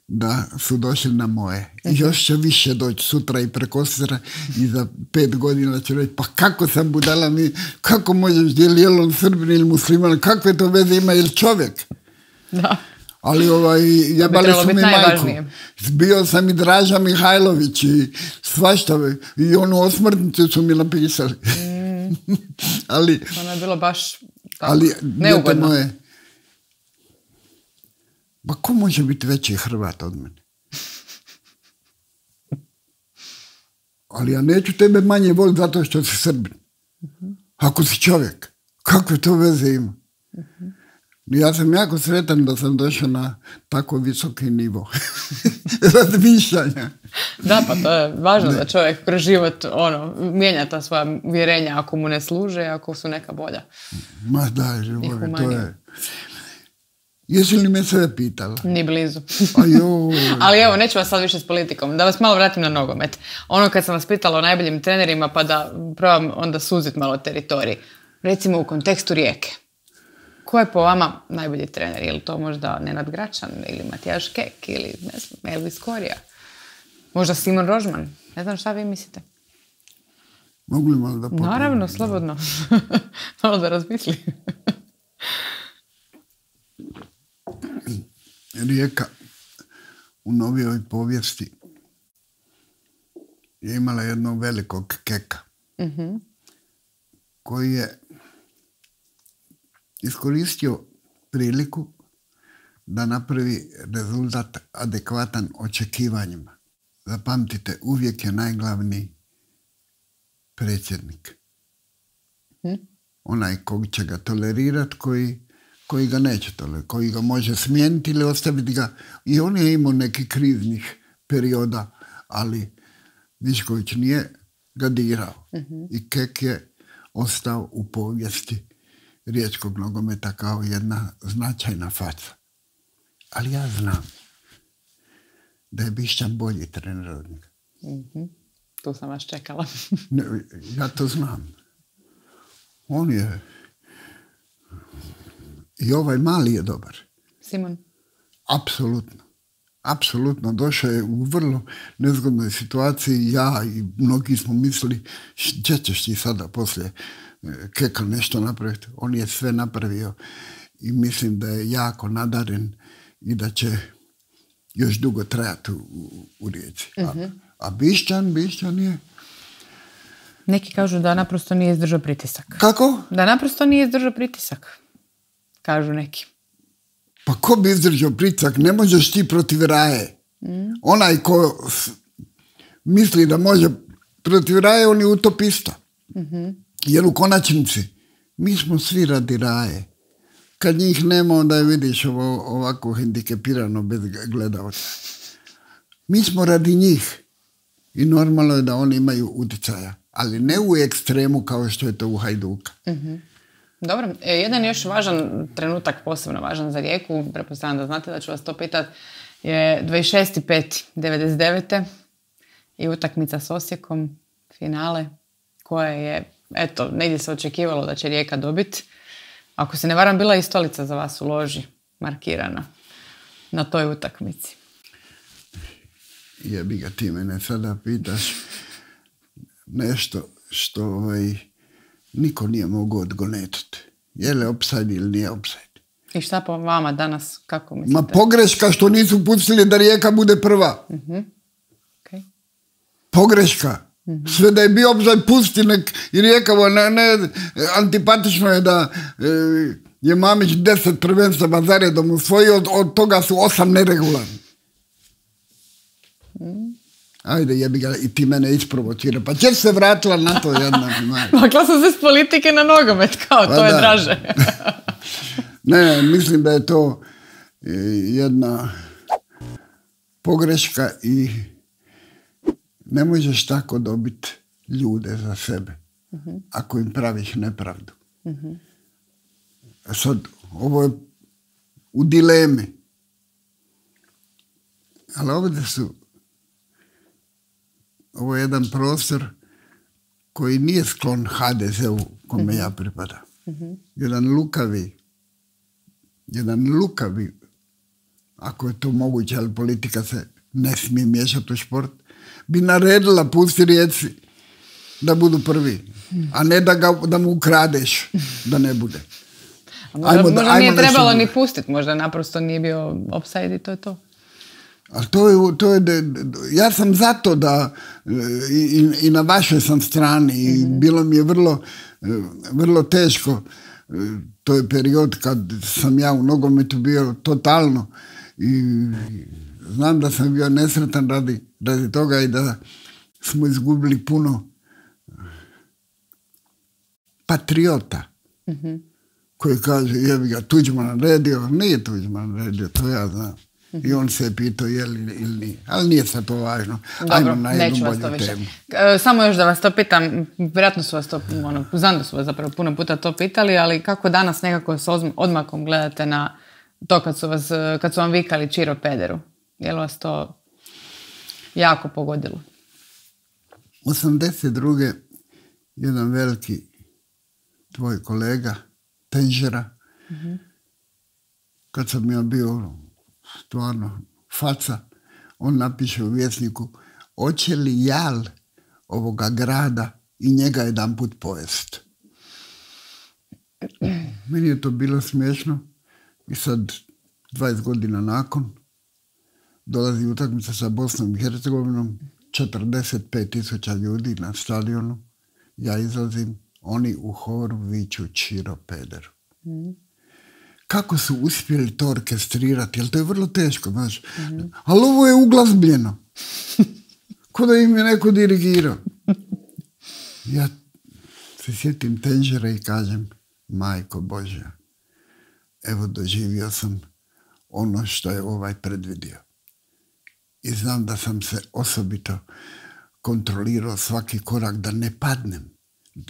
A: da su došli na moje. I još će više doći sutra i prekosutra i za pet godina ću reći, pa kako sam budala mi, kako možeš dijeli, je li on Srbin ili musliman, kakve to veze ima, je li čovjek? Da. Ali ovaj, jebali su mi majku. Bio sam i Draža Mihajlović i svašta. I onu osmrtnicu su mi napisali. Mm. Ali...
B: Ono je bilo baš
A: ali, neugodno. Moje, ba ko može biti veći Hrvat od mene? Ali ja neću tebe manje voliti zato što si Srbin. Mm-hmm. Ako si čovjek. Kakve to veze ima? Uh-huh. Ja sam jako sretan da sam došao na tako visoki nivo razmišljanja.
B: Da, pa to je važno ne. Da čovjek kroz život ono, mijenja ta svoja vjerenja ako mu ne služe, ako su neka bolja.
A: Ma da, živore, to je... Jesi li me sve pitala?
B: Ni blizu. Ali evo, neću vas sad više s politikom. Da vas malo vratim na nogomet. Ono kad sam vas pitala o najboljim trenerima, pa da probam onda suzit malo teritorij. Recimo u kontekstu Rijeke. Ko je po vama najbolji trener? Je li to možda Nenad Gračan ili Matijaš Kek ili ne znam, Elvis Korija? Možda Simon Rožman? Ne znam šta vi mislite.
A: Mogu li malo da potrebno?
B: Naravno, slobodno. Malo da razmisli.
A: Rijeka u novijoj povijesti je imala jednog velikog Keka mm-hmm. koji je iskoristio priliku da napravi rezultat adekvatan očekivanjima. Zapamtite, uvijek je najglavniji predsjednik. Mm. Onaj kog će ga tolerirati, koji, koji ga neće tolerirati, koji ga može smijeniti ili ostaviti ga. I on je imao neki kriznih perioda, ali Višković nije ga dirao. Mm-hmm. I Kek je ostao u povijesti riječkog nogometa kao jedna značajna faca. Ali ja znam da je Bišćan bolji trener od njega.
B: Mm-hmm. Tu sam vas čekala.
A: Ne, ja to znam. On je... I ovaj mali je dobar.
B: Simon?
A: Apsolutno. Apsolutno. Došao je u vrlo nezgodnoj situaciji. Ja i mnogi smo mislili, gdje ćeš ti sada poslije Keka nešto napraviti. On je sve napravio i mislim da je jako nadaren i da će još dugo trajati u, u, u Rijeci. Mm-hmm. A, a Bišćan, Bišćan je...
B: Neki kažu da naprosto nije izdržao pritisak.
A: Kako?
B: Da naprosto nije izdržao pritisak. Kažu neki.
A: Pa ko bi izdržao pritisak? Ne možeš ti protiv Raje. Mm. Onaj ko s, misli da može protiv Raje, on je utopista. Mm-hmm. Jer u konačnici mi smo svi radi Raje. Kad njih nema, onda je vidiš ovo, ovako hendikepirano bez gledalca. Mi smo radi njih i normalno je da oni imaju utjecaja, ali ne u ekstremu kao što je to u Hajduka.
B: Mm-hmm. Dobro, jedan još važan trenutak, posebno važan za Rijeku, pretpostavljam da znate da ću vas to pitati, je dvadeset šesti peti devedeset devete i utakmica s Osijekom, finale, koja je, eto, negdje se očekivalo da će Rijeka dobiti. Ako se ne varam, bila i stolica za vas u loži markirana na toj utakmici.
A: Jebi ga, ti mene sada pitaš nešto što ovaj, niko nije mogao odgonetiti. Je li offside ili nije offside?
B: I šta po vama danas, kako mislite?
A: Ma pogreška što nisu pustili da Rijeka bude prva.
B: Mm-hmm. Okay.
A: Pogreška. Mm-hmm. Sve da je bio offside, pusti nek i Rijeka, ne, ne, antipatično je da e, je Mamić deset prvenstava zaredom usvojio, od, od toga su osam neregularni. Mm. Ajde, jebi ga, i ti mene isprovocira. Pa će se vratila na to jedna.
B: Makla sam se s politike na nogomet, kao pa to je da. Draže.
A: Ne, mislim da je to jedna pogreška i ne možeš tako dobiti ljude za sebe, uh-huh. ako im praviš nepravdu. Uh-huh. Sad, ovo je u dilemi. Ali ovdje su ovo je jedan prostor koji nije sklon ha de ze-u kome uh-huh. ja pripada. Uh-huh. Jedan lukavi, jedan lukavi, ako je to moguće, ali politika se ne smije miješati u šport, bi naredila pusti Rijeci da budu prvi, a ne da, ga, da mu ukradeš da ne bude.
B: A možda, ajmo, možda ajmo nije trebalo ni pustiti, možda naprosto nije bio offside i to je to.
A: Ali to je, to je, ja sam zato da i, i na vašoj sam strani i mm-hmm. bilo mi je vrlo, vrlo teško. To je period kad sam ja u nogometu bio totalno i znam da sam bio nesretan radi, radi toga i da smo izgubili puno patriota mm-hmm. koji kaže, jebi ga, Tuđman naredio, nije Tuđman naredio, to ja znam. I on se je pitao je li ili nije. Ali nije sad to važno.
B: Dobro,
A: ajmo na jednu
B: neću vas to
A: bolju
B: više.
A: temu.
B: E, samo još da vas to pitam, vjerojatno su vas to, ono, znam da su vas zapravo puno puta to pitali, ali kako danas nekako s odmakom gledate na to kad su, vas, kad su vam vikali Čiro pederu? Je li vas to jako pogodilo?
A: osamdeset druge jedan veliki tvoj kolega, Tenžera, mm-hmm. kad sam ja bio stvarno faca, on napiše u Vjesniku, hoće li jal ovoga grada i njega jedan put pojest. Meni je to bilo smiješno i sad dvadeset godina nakon dolazi utakmica sa Bosnom i Hercegovinom, četrdeset pet tisuća ljudi na stadionu, ja izlazim, oni u horu viču Čiro pederu. Mm. Kako su uspjeli to orkestrirati, jer to je vrlo teško, znaš. Mm-hmm. Ali ovo je uglazbljeno. Ko da im je neko dirigirao. Ja se sjetim Tenžera i kažem, majko Božja, evo doživio sam ono što je ovaj predvidio. I znam da sam se osobito kontrolirao svaki korak da ne padnem,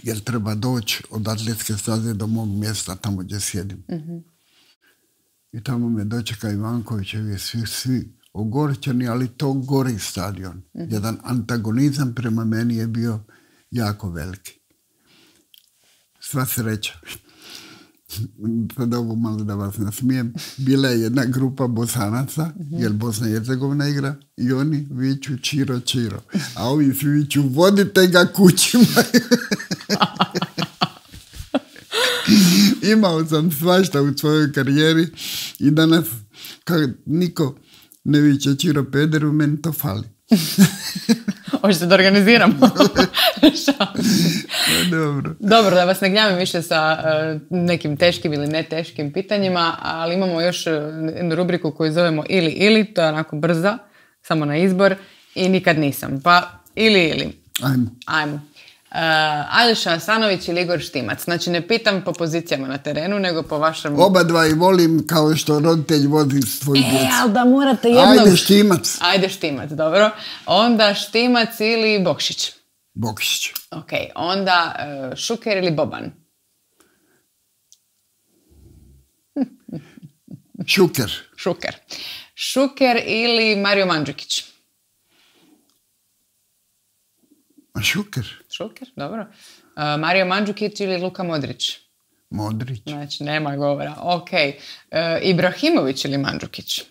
A: jer treba doći od atletske staze do mog mjesta tamo gdje sjedim. Mm-hmm. I tamo me dočeka Ivankovićevi svi, svi ogorčani, ali to gori stadion. Mm-hmm. Jedan antagonizam prema meni je bio jako veliki. Sva sreća. Sad ovo malo da vas nasmijem. Bila je jedna grupa Bosanaca, mm-hmm. jer Bosna i Hercegovina igra, i oni viču Čiro, Čiro. A ovi svi viču, vodite ga kućima. Imao sam svašta u svojoj karijeri i danas kad niko ne viče Čiro pederu, meni to fali.
B: Hoćete da organiziramo?
A: Dobro.
B: Dobro, da vas ne gnjavim više sa uh, nekim teškim ili ne teškim pitanjima, ali imamo još jednu rubriku koju zovemo ili ili, to je onako brza, samo na izbor, i nikad nisam. Pa ili ili.
A: Ajmo.
B: Ajmo. Uh, Aljoša Asanović ili Igor Štimac. Znači ne pitam po pozicijama na terenu, nego po vašem...
A: Oba dva i volim kao što roditelj vodi svoj djec.
B: E, ali da morate jednog...
A: Ajde Štimac.
B: Ajde Štimac, dobro. Onda Štimac ili Bokšić.
A: Bokšić.
B: Ok, onda uh, Šuker ili Boban.
A: Šuker.
B: Šuker. Šuker ili Mario Mandžukić.
A: A Šuker.
B: Šuker, dobro. Uh, Mario Mandžukić ili Luka Modrić?
A: Modrić.
B: Znači, nema govora. Ok. Uh, Ibrahimović ili Mandžukić?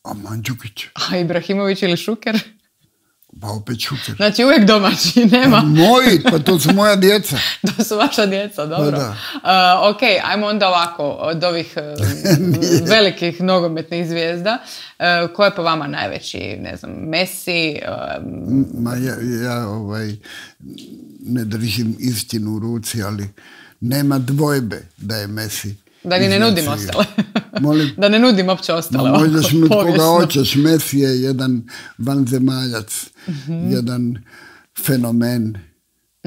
A: A Mandžukić.
B: A Ibrahimović ili Šuker?
A: Pa opet Šuker.
B: Znači, uvijek domaći, nema.
A: Pa moji, pa to su moja djeca.
B: To su vaša djeca, dobro.
A: Pa da.
B: Uh, ok, ajmo onda ovako, od ovih uh, velikih nogometnih zvijezda, uh, ko je po vama najveći, ne znam, Messi? Uh,
A: Ma ja, ja ovaj, ne držim istinu u ruci, ali nema dvojbe da je Messi.
B: Da ni ne nudim ostale.
A: Molim?
B: Da ne nudim uopće ostale.
A: Ma možeš nut koga hoćeš. Messi je jedan vanzemaljac, mm-hmm. jedan fenomen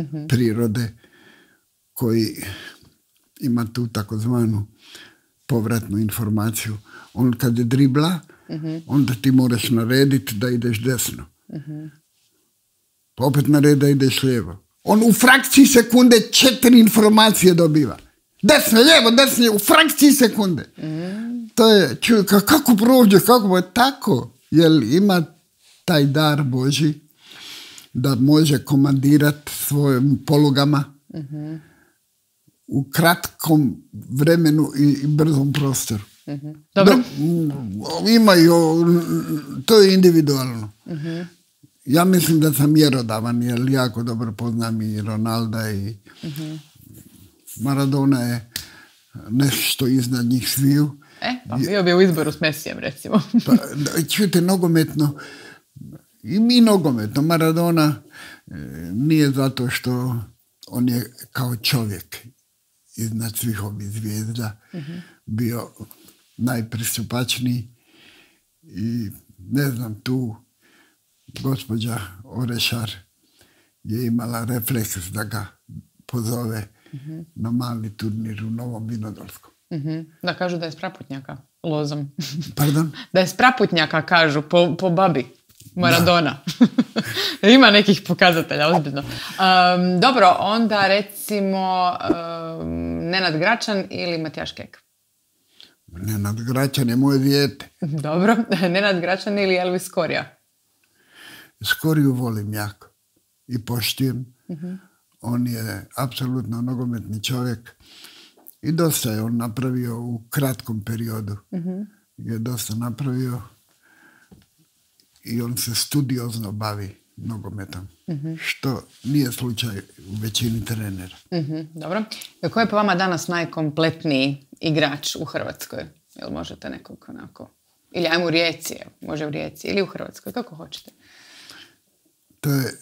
A: mm-hmm. prirode koji ima tu takozvanu povratnu informaciju. On kad je dribla, mm-hmm. onda ti moraš narediti da ideš desno. Mm-hmm. Pa opet naredi da ideš lijevo. On u frakciji sekunde četiri informacije dobiva. Desno, lijevo, desno, u frakciji sekunde. Mm. To je, čuj, kako prođe, kako je tako, jer ima taj dar Božji da može komandirati svojim polugama mm-hmm. u kratkom vremenu i, i brzom prostoru.
B: Mm-hmm. Dobro.
A: Da, imaju, to je individualno. Mm-hmm. Ja mislim da sam mjerodavan, jer jako dobro poznam i Ronalda i mm-hmm. Maradona je nešto iznad njih sviju.
B: E, pa bio bi u izboru s Messijem, recimo.
A: Pa, čujte, nogometno, i mi nogometno, Maradona e, nije zato što on je kao čovjek iznad svih ovih zvijezda mm-hmm. bio najpristupačniji i ne znam, tu gospođa Orešar je imala refleks da ga pozove uh-huh. na mali turnir u Novom Vinodolskom.
B: Uh-huh. Da kažu da je s Praputnjaka, lozom.
A: Pardon?
B: Da je s Praputnjaka, kažu, po, po babi. Maradona. Ima nekih pokazatelja, ozbiljno. Um, dobro, onda recimo um, Nenad Gračan ili Matijaš Kek?
A: Nenad Gračan je moje dijete.
B: Dobro, Nenad Gračan ili Elvis Skorija?
A: Skoriju volim jako i poštujem. Uh-huh. On je apsolutno nogometni čovjek i dosta je on napravio u kratkom periodu. Uh-huh. Je dosta napravio i on se studiozno bavi nogometom, uh-huh. što nije slučaj u većini trenera.
B: Uh-huh. Dobro. Ko je po vama danas najkompletniji igrač u Hrvatskoj? Jel možete nekog onako... Ili ajmo u Rijeci, može u Rijeci, ili u Hrvatskoj, kako hoćete?
A: To je,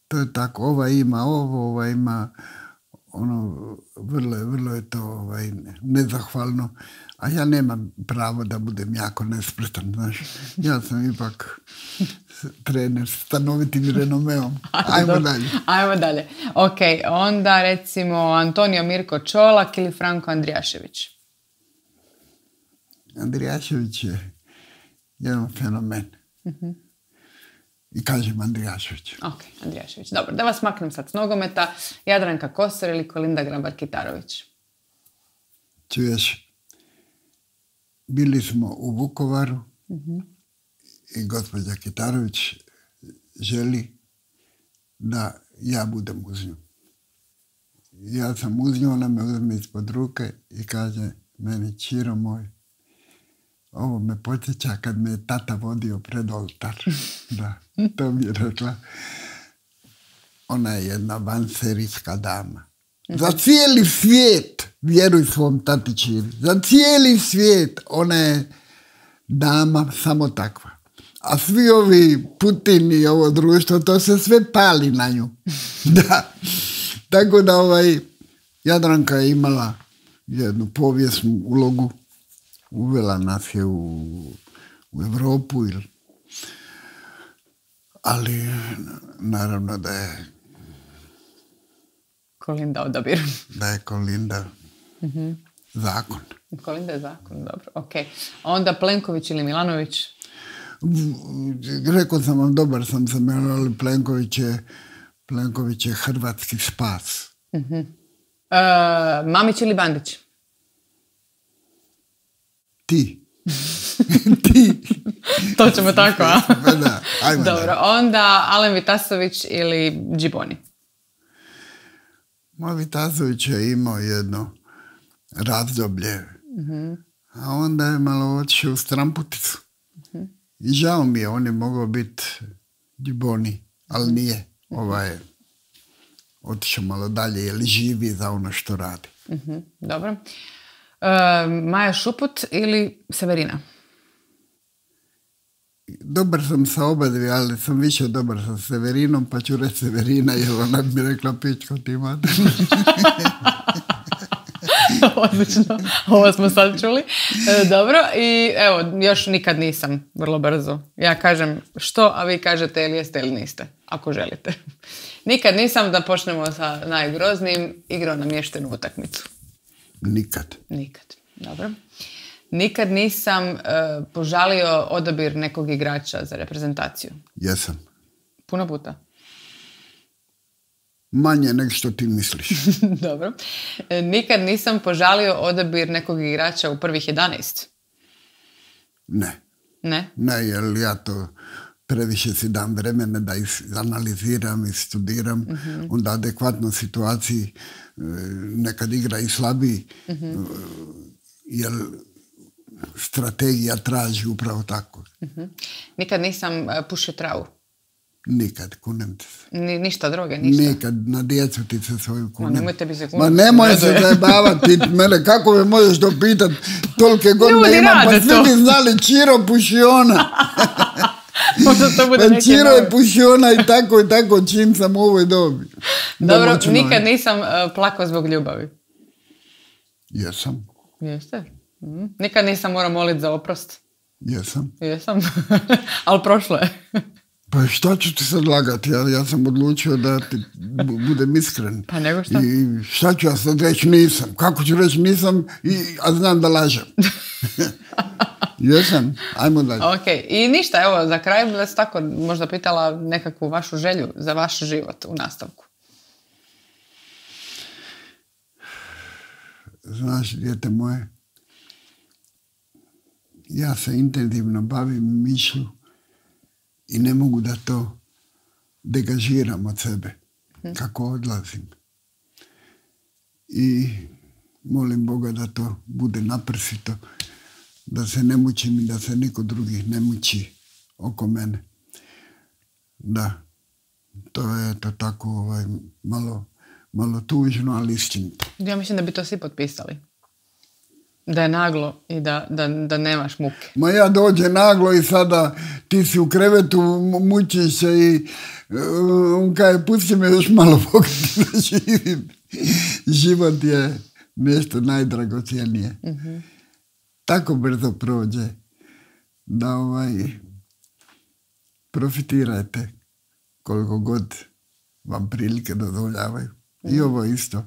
A: to je tako, ova ima ovo, ova ima ono, vrlo, vrlo je to ovaj, nezahvalno, a ja nemam pravo da budem jako nespretan, znaš. Ja sam ipak trener s stanovitim renomeom. Ajmo dalje.
B: Ajmo dalje. Ok, onda recimo Antonio Mirko Čolak ili Franko Andrijašević?
A: Andrijašević je jedan fenomen. Uh-huh. I kažem Andrijašević.
B: Ok, Andrijašević. Dobro, da vas maknem sad s nogometa. Jadranka Kosor ili Kolinda Grabar-Kitarović?
A: Čuješ, bili smo u Vukovaru uh-huh. i gospođa Kitarović želi da ja budem uz nju. Ja sam uz nju, ona me uzme ispod ruke i kaže meni, Čiro moj, ovo me podsjeća kad me je tata vodio pred oltar. Da, to mi je rekla. Ona je jedna vanserijska dama. Za cijeli svijet, vjeruj svom tati Čiri, za cijeli svijet ona je dama samo takva. A svi ovi Putin i ovo društvo, to se sve pali na nju. Da. Tako da ovaj, Jadranka je imala jednu povijesnu ulogu. Uvela nas je u, u Europu, ili, ali naravno da je
B: Kolinda odabir.
A: Da je Kolinda uh-huh. zakon.
B: Kolinda je zakon, dobro, ok. Onda Plenković ili Milanović?
A: Rekao sam vam, dobar sam sa Milanović, ali Plenković je, Plenković je hrvatski spas.
B: Uh-huh. Uh, Mamić ili Bandić?
A: Ti. Ti.
B: To ćemo tako, a?
A: Da, ajmo.
B: Dobro, da. Onda Alen Vitasović ili Džiboni?
A: Moj Vitasović je imao jedno razdoblje, uh-huh. a onda je malo otišao u stramputicu. Uh-huh. I žao mi je, on je mogao biti Džiboni, ali nije. Ovaj je otišao malo dalje, jer živi za ono što radi.
B: Uh-huh. Dobro. Uh, Maja Šuput ili Severina?
A: Dobar sam sa oba dvije, ali sam više dobar sa Severinom, pa ću reći Severina, jer ona bi rekla pičko ti imate.
B: Odlično, ovo smo sad čuli. E, dobro, i evo, još nikad nisam, vrlo brzo. Ja kažem što, a vi kažete ili jeste ili niste, ako želite. Nikad nisam, da počnemo sa najgroznijim, igrao namještenu utakmicu.
A: Nikad.
B: Nikad, dobro. Nikad nisam uh, požalio odabir nekog igrača za reprezentaciju.
A: Jesam.
B: Puno puta?
A: Manje nego što ti misliš.
B: Dobro. E, nikad nisam požalio odabir nekog igrača u prvih jedanaest?
A: Ne.
B: Ne?
A: Ne, jer ja to previše si dam vremena da analiziram i studiram, uh-huh. onda adekvatno situaciji nekad igra i slabiji, uh-huh. jer strategija traži upravo tako.
B: Uh-huh. Nikad nisam uh, pušio travu?
A: Nikad, kunem te se.
B: Ni, ništa droge, ništa?
A: Nikad, na djecu ti se svoju kunem.
B: Ma nemojte bi se kunem.
A: Ma nemoj se zajebavati mene, kako me možeš to pitat, tolike godine imam, pa svi bi znali Čiro Pušiona.
B: Možda to bude
A: pa
B: neki
A: Čiro je Pušiona i tako i tako čim sam u ovoj dobi.
B: Dobro, nikad nisam uh, plakao zbog ljubavi?
A: Jesam.
B: Jeste? Mm. Nikad nisam morao moliti za oprost?
A: Jesam.
B: Jesam, ali prošlo je.
A: Pa šta ću ti sad lagati? Ja, ja sam odlučio da ti budem iskren.
B: Pa nego šta?
A: I šta ću ja sad reći nisam? Kako ću reći nisam, i, a znam da lažem? Jesam, ajmo dalje.
B: Ok, i ništa, evo, za kraj bi vas tako možda pitala nekakvu vašu želju za vaš život u nastavku.
A: Znaš, dijete moje, ja se intenzivno bavim mišlju i ne mogu da to degažiram od sebe kako odlazim. I molim Boga da to bude naprsito, da se ne mučim i da se niko drugi ne muči oko mene. Da, to je to tako ovaj, malo, malo tužno, ali istinito.
B: Ja mislim da bi to svi potpisali. Da je naglo i da, da, da nemaš muke.
A: Ma ja dođe naglo i sada ti si u krevetu, mučiš se i on kaže, pusti me još malo pogledati da živim. Život je nešto najdragocjenije. Mm-hmm. Tako brzo prođe da ovaj, profitirajte koliko god vam prilike dozvoljavaju. Mm-hmm. I ovo isto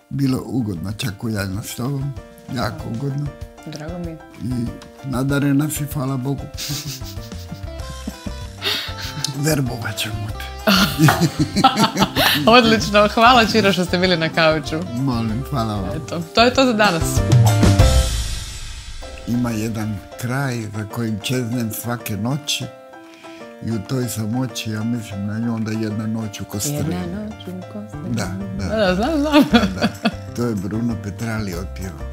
A: bilo ugodno čakujanje s tobom. Jako ugodno.
B: Drago mi.
A: I nadarena si, hvala Bogu. Verbovat ćemo te.
B: Odlično, hvala Čiro što ste bili na kauču.
A: Molim, hvala vam.
B: Eto, to je to za danas.
A: Ima jedan kraj za kojim čeznem svake noći i u toj samoći, ja mislim na nju onda jedna noć u Kostreni.
B: Jedna noć u Kostreni.
A: Da, da.
B: Da, znam, znam.
A: Da, da. To je Bruno Petrali otpjevao.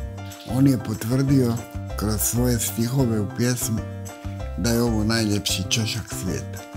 A: On je potvrdio kroz svoje stihove u pjesmi da je ovo najljepši čošak svijeta.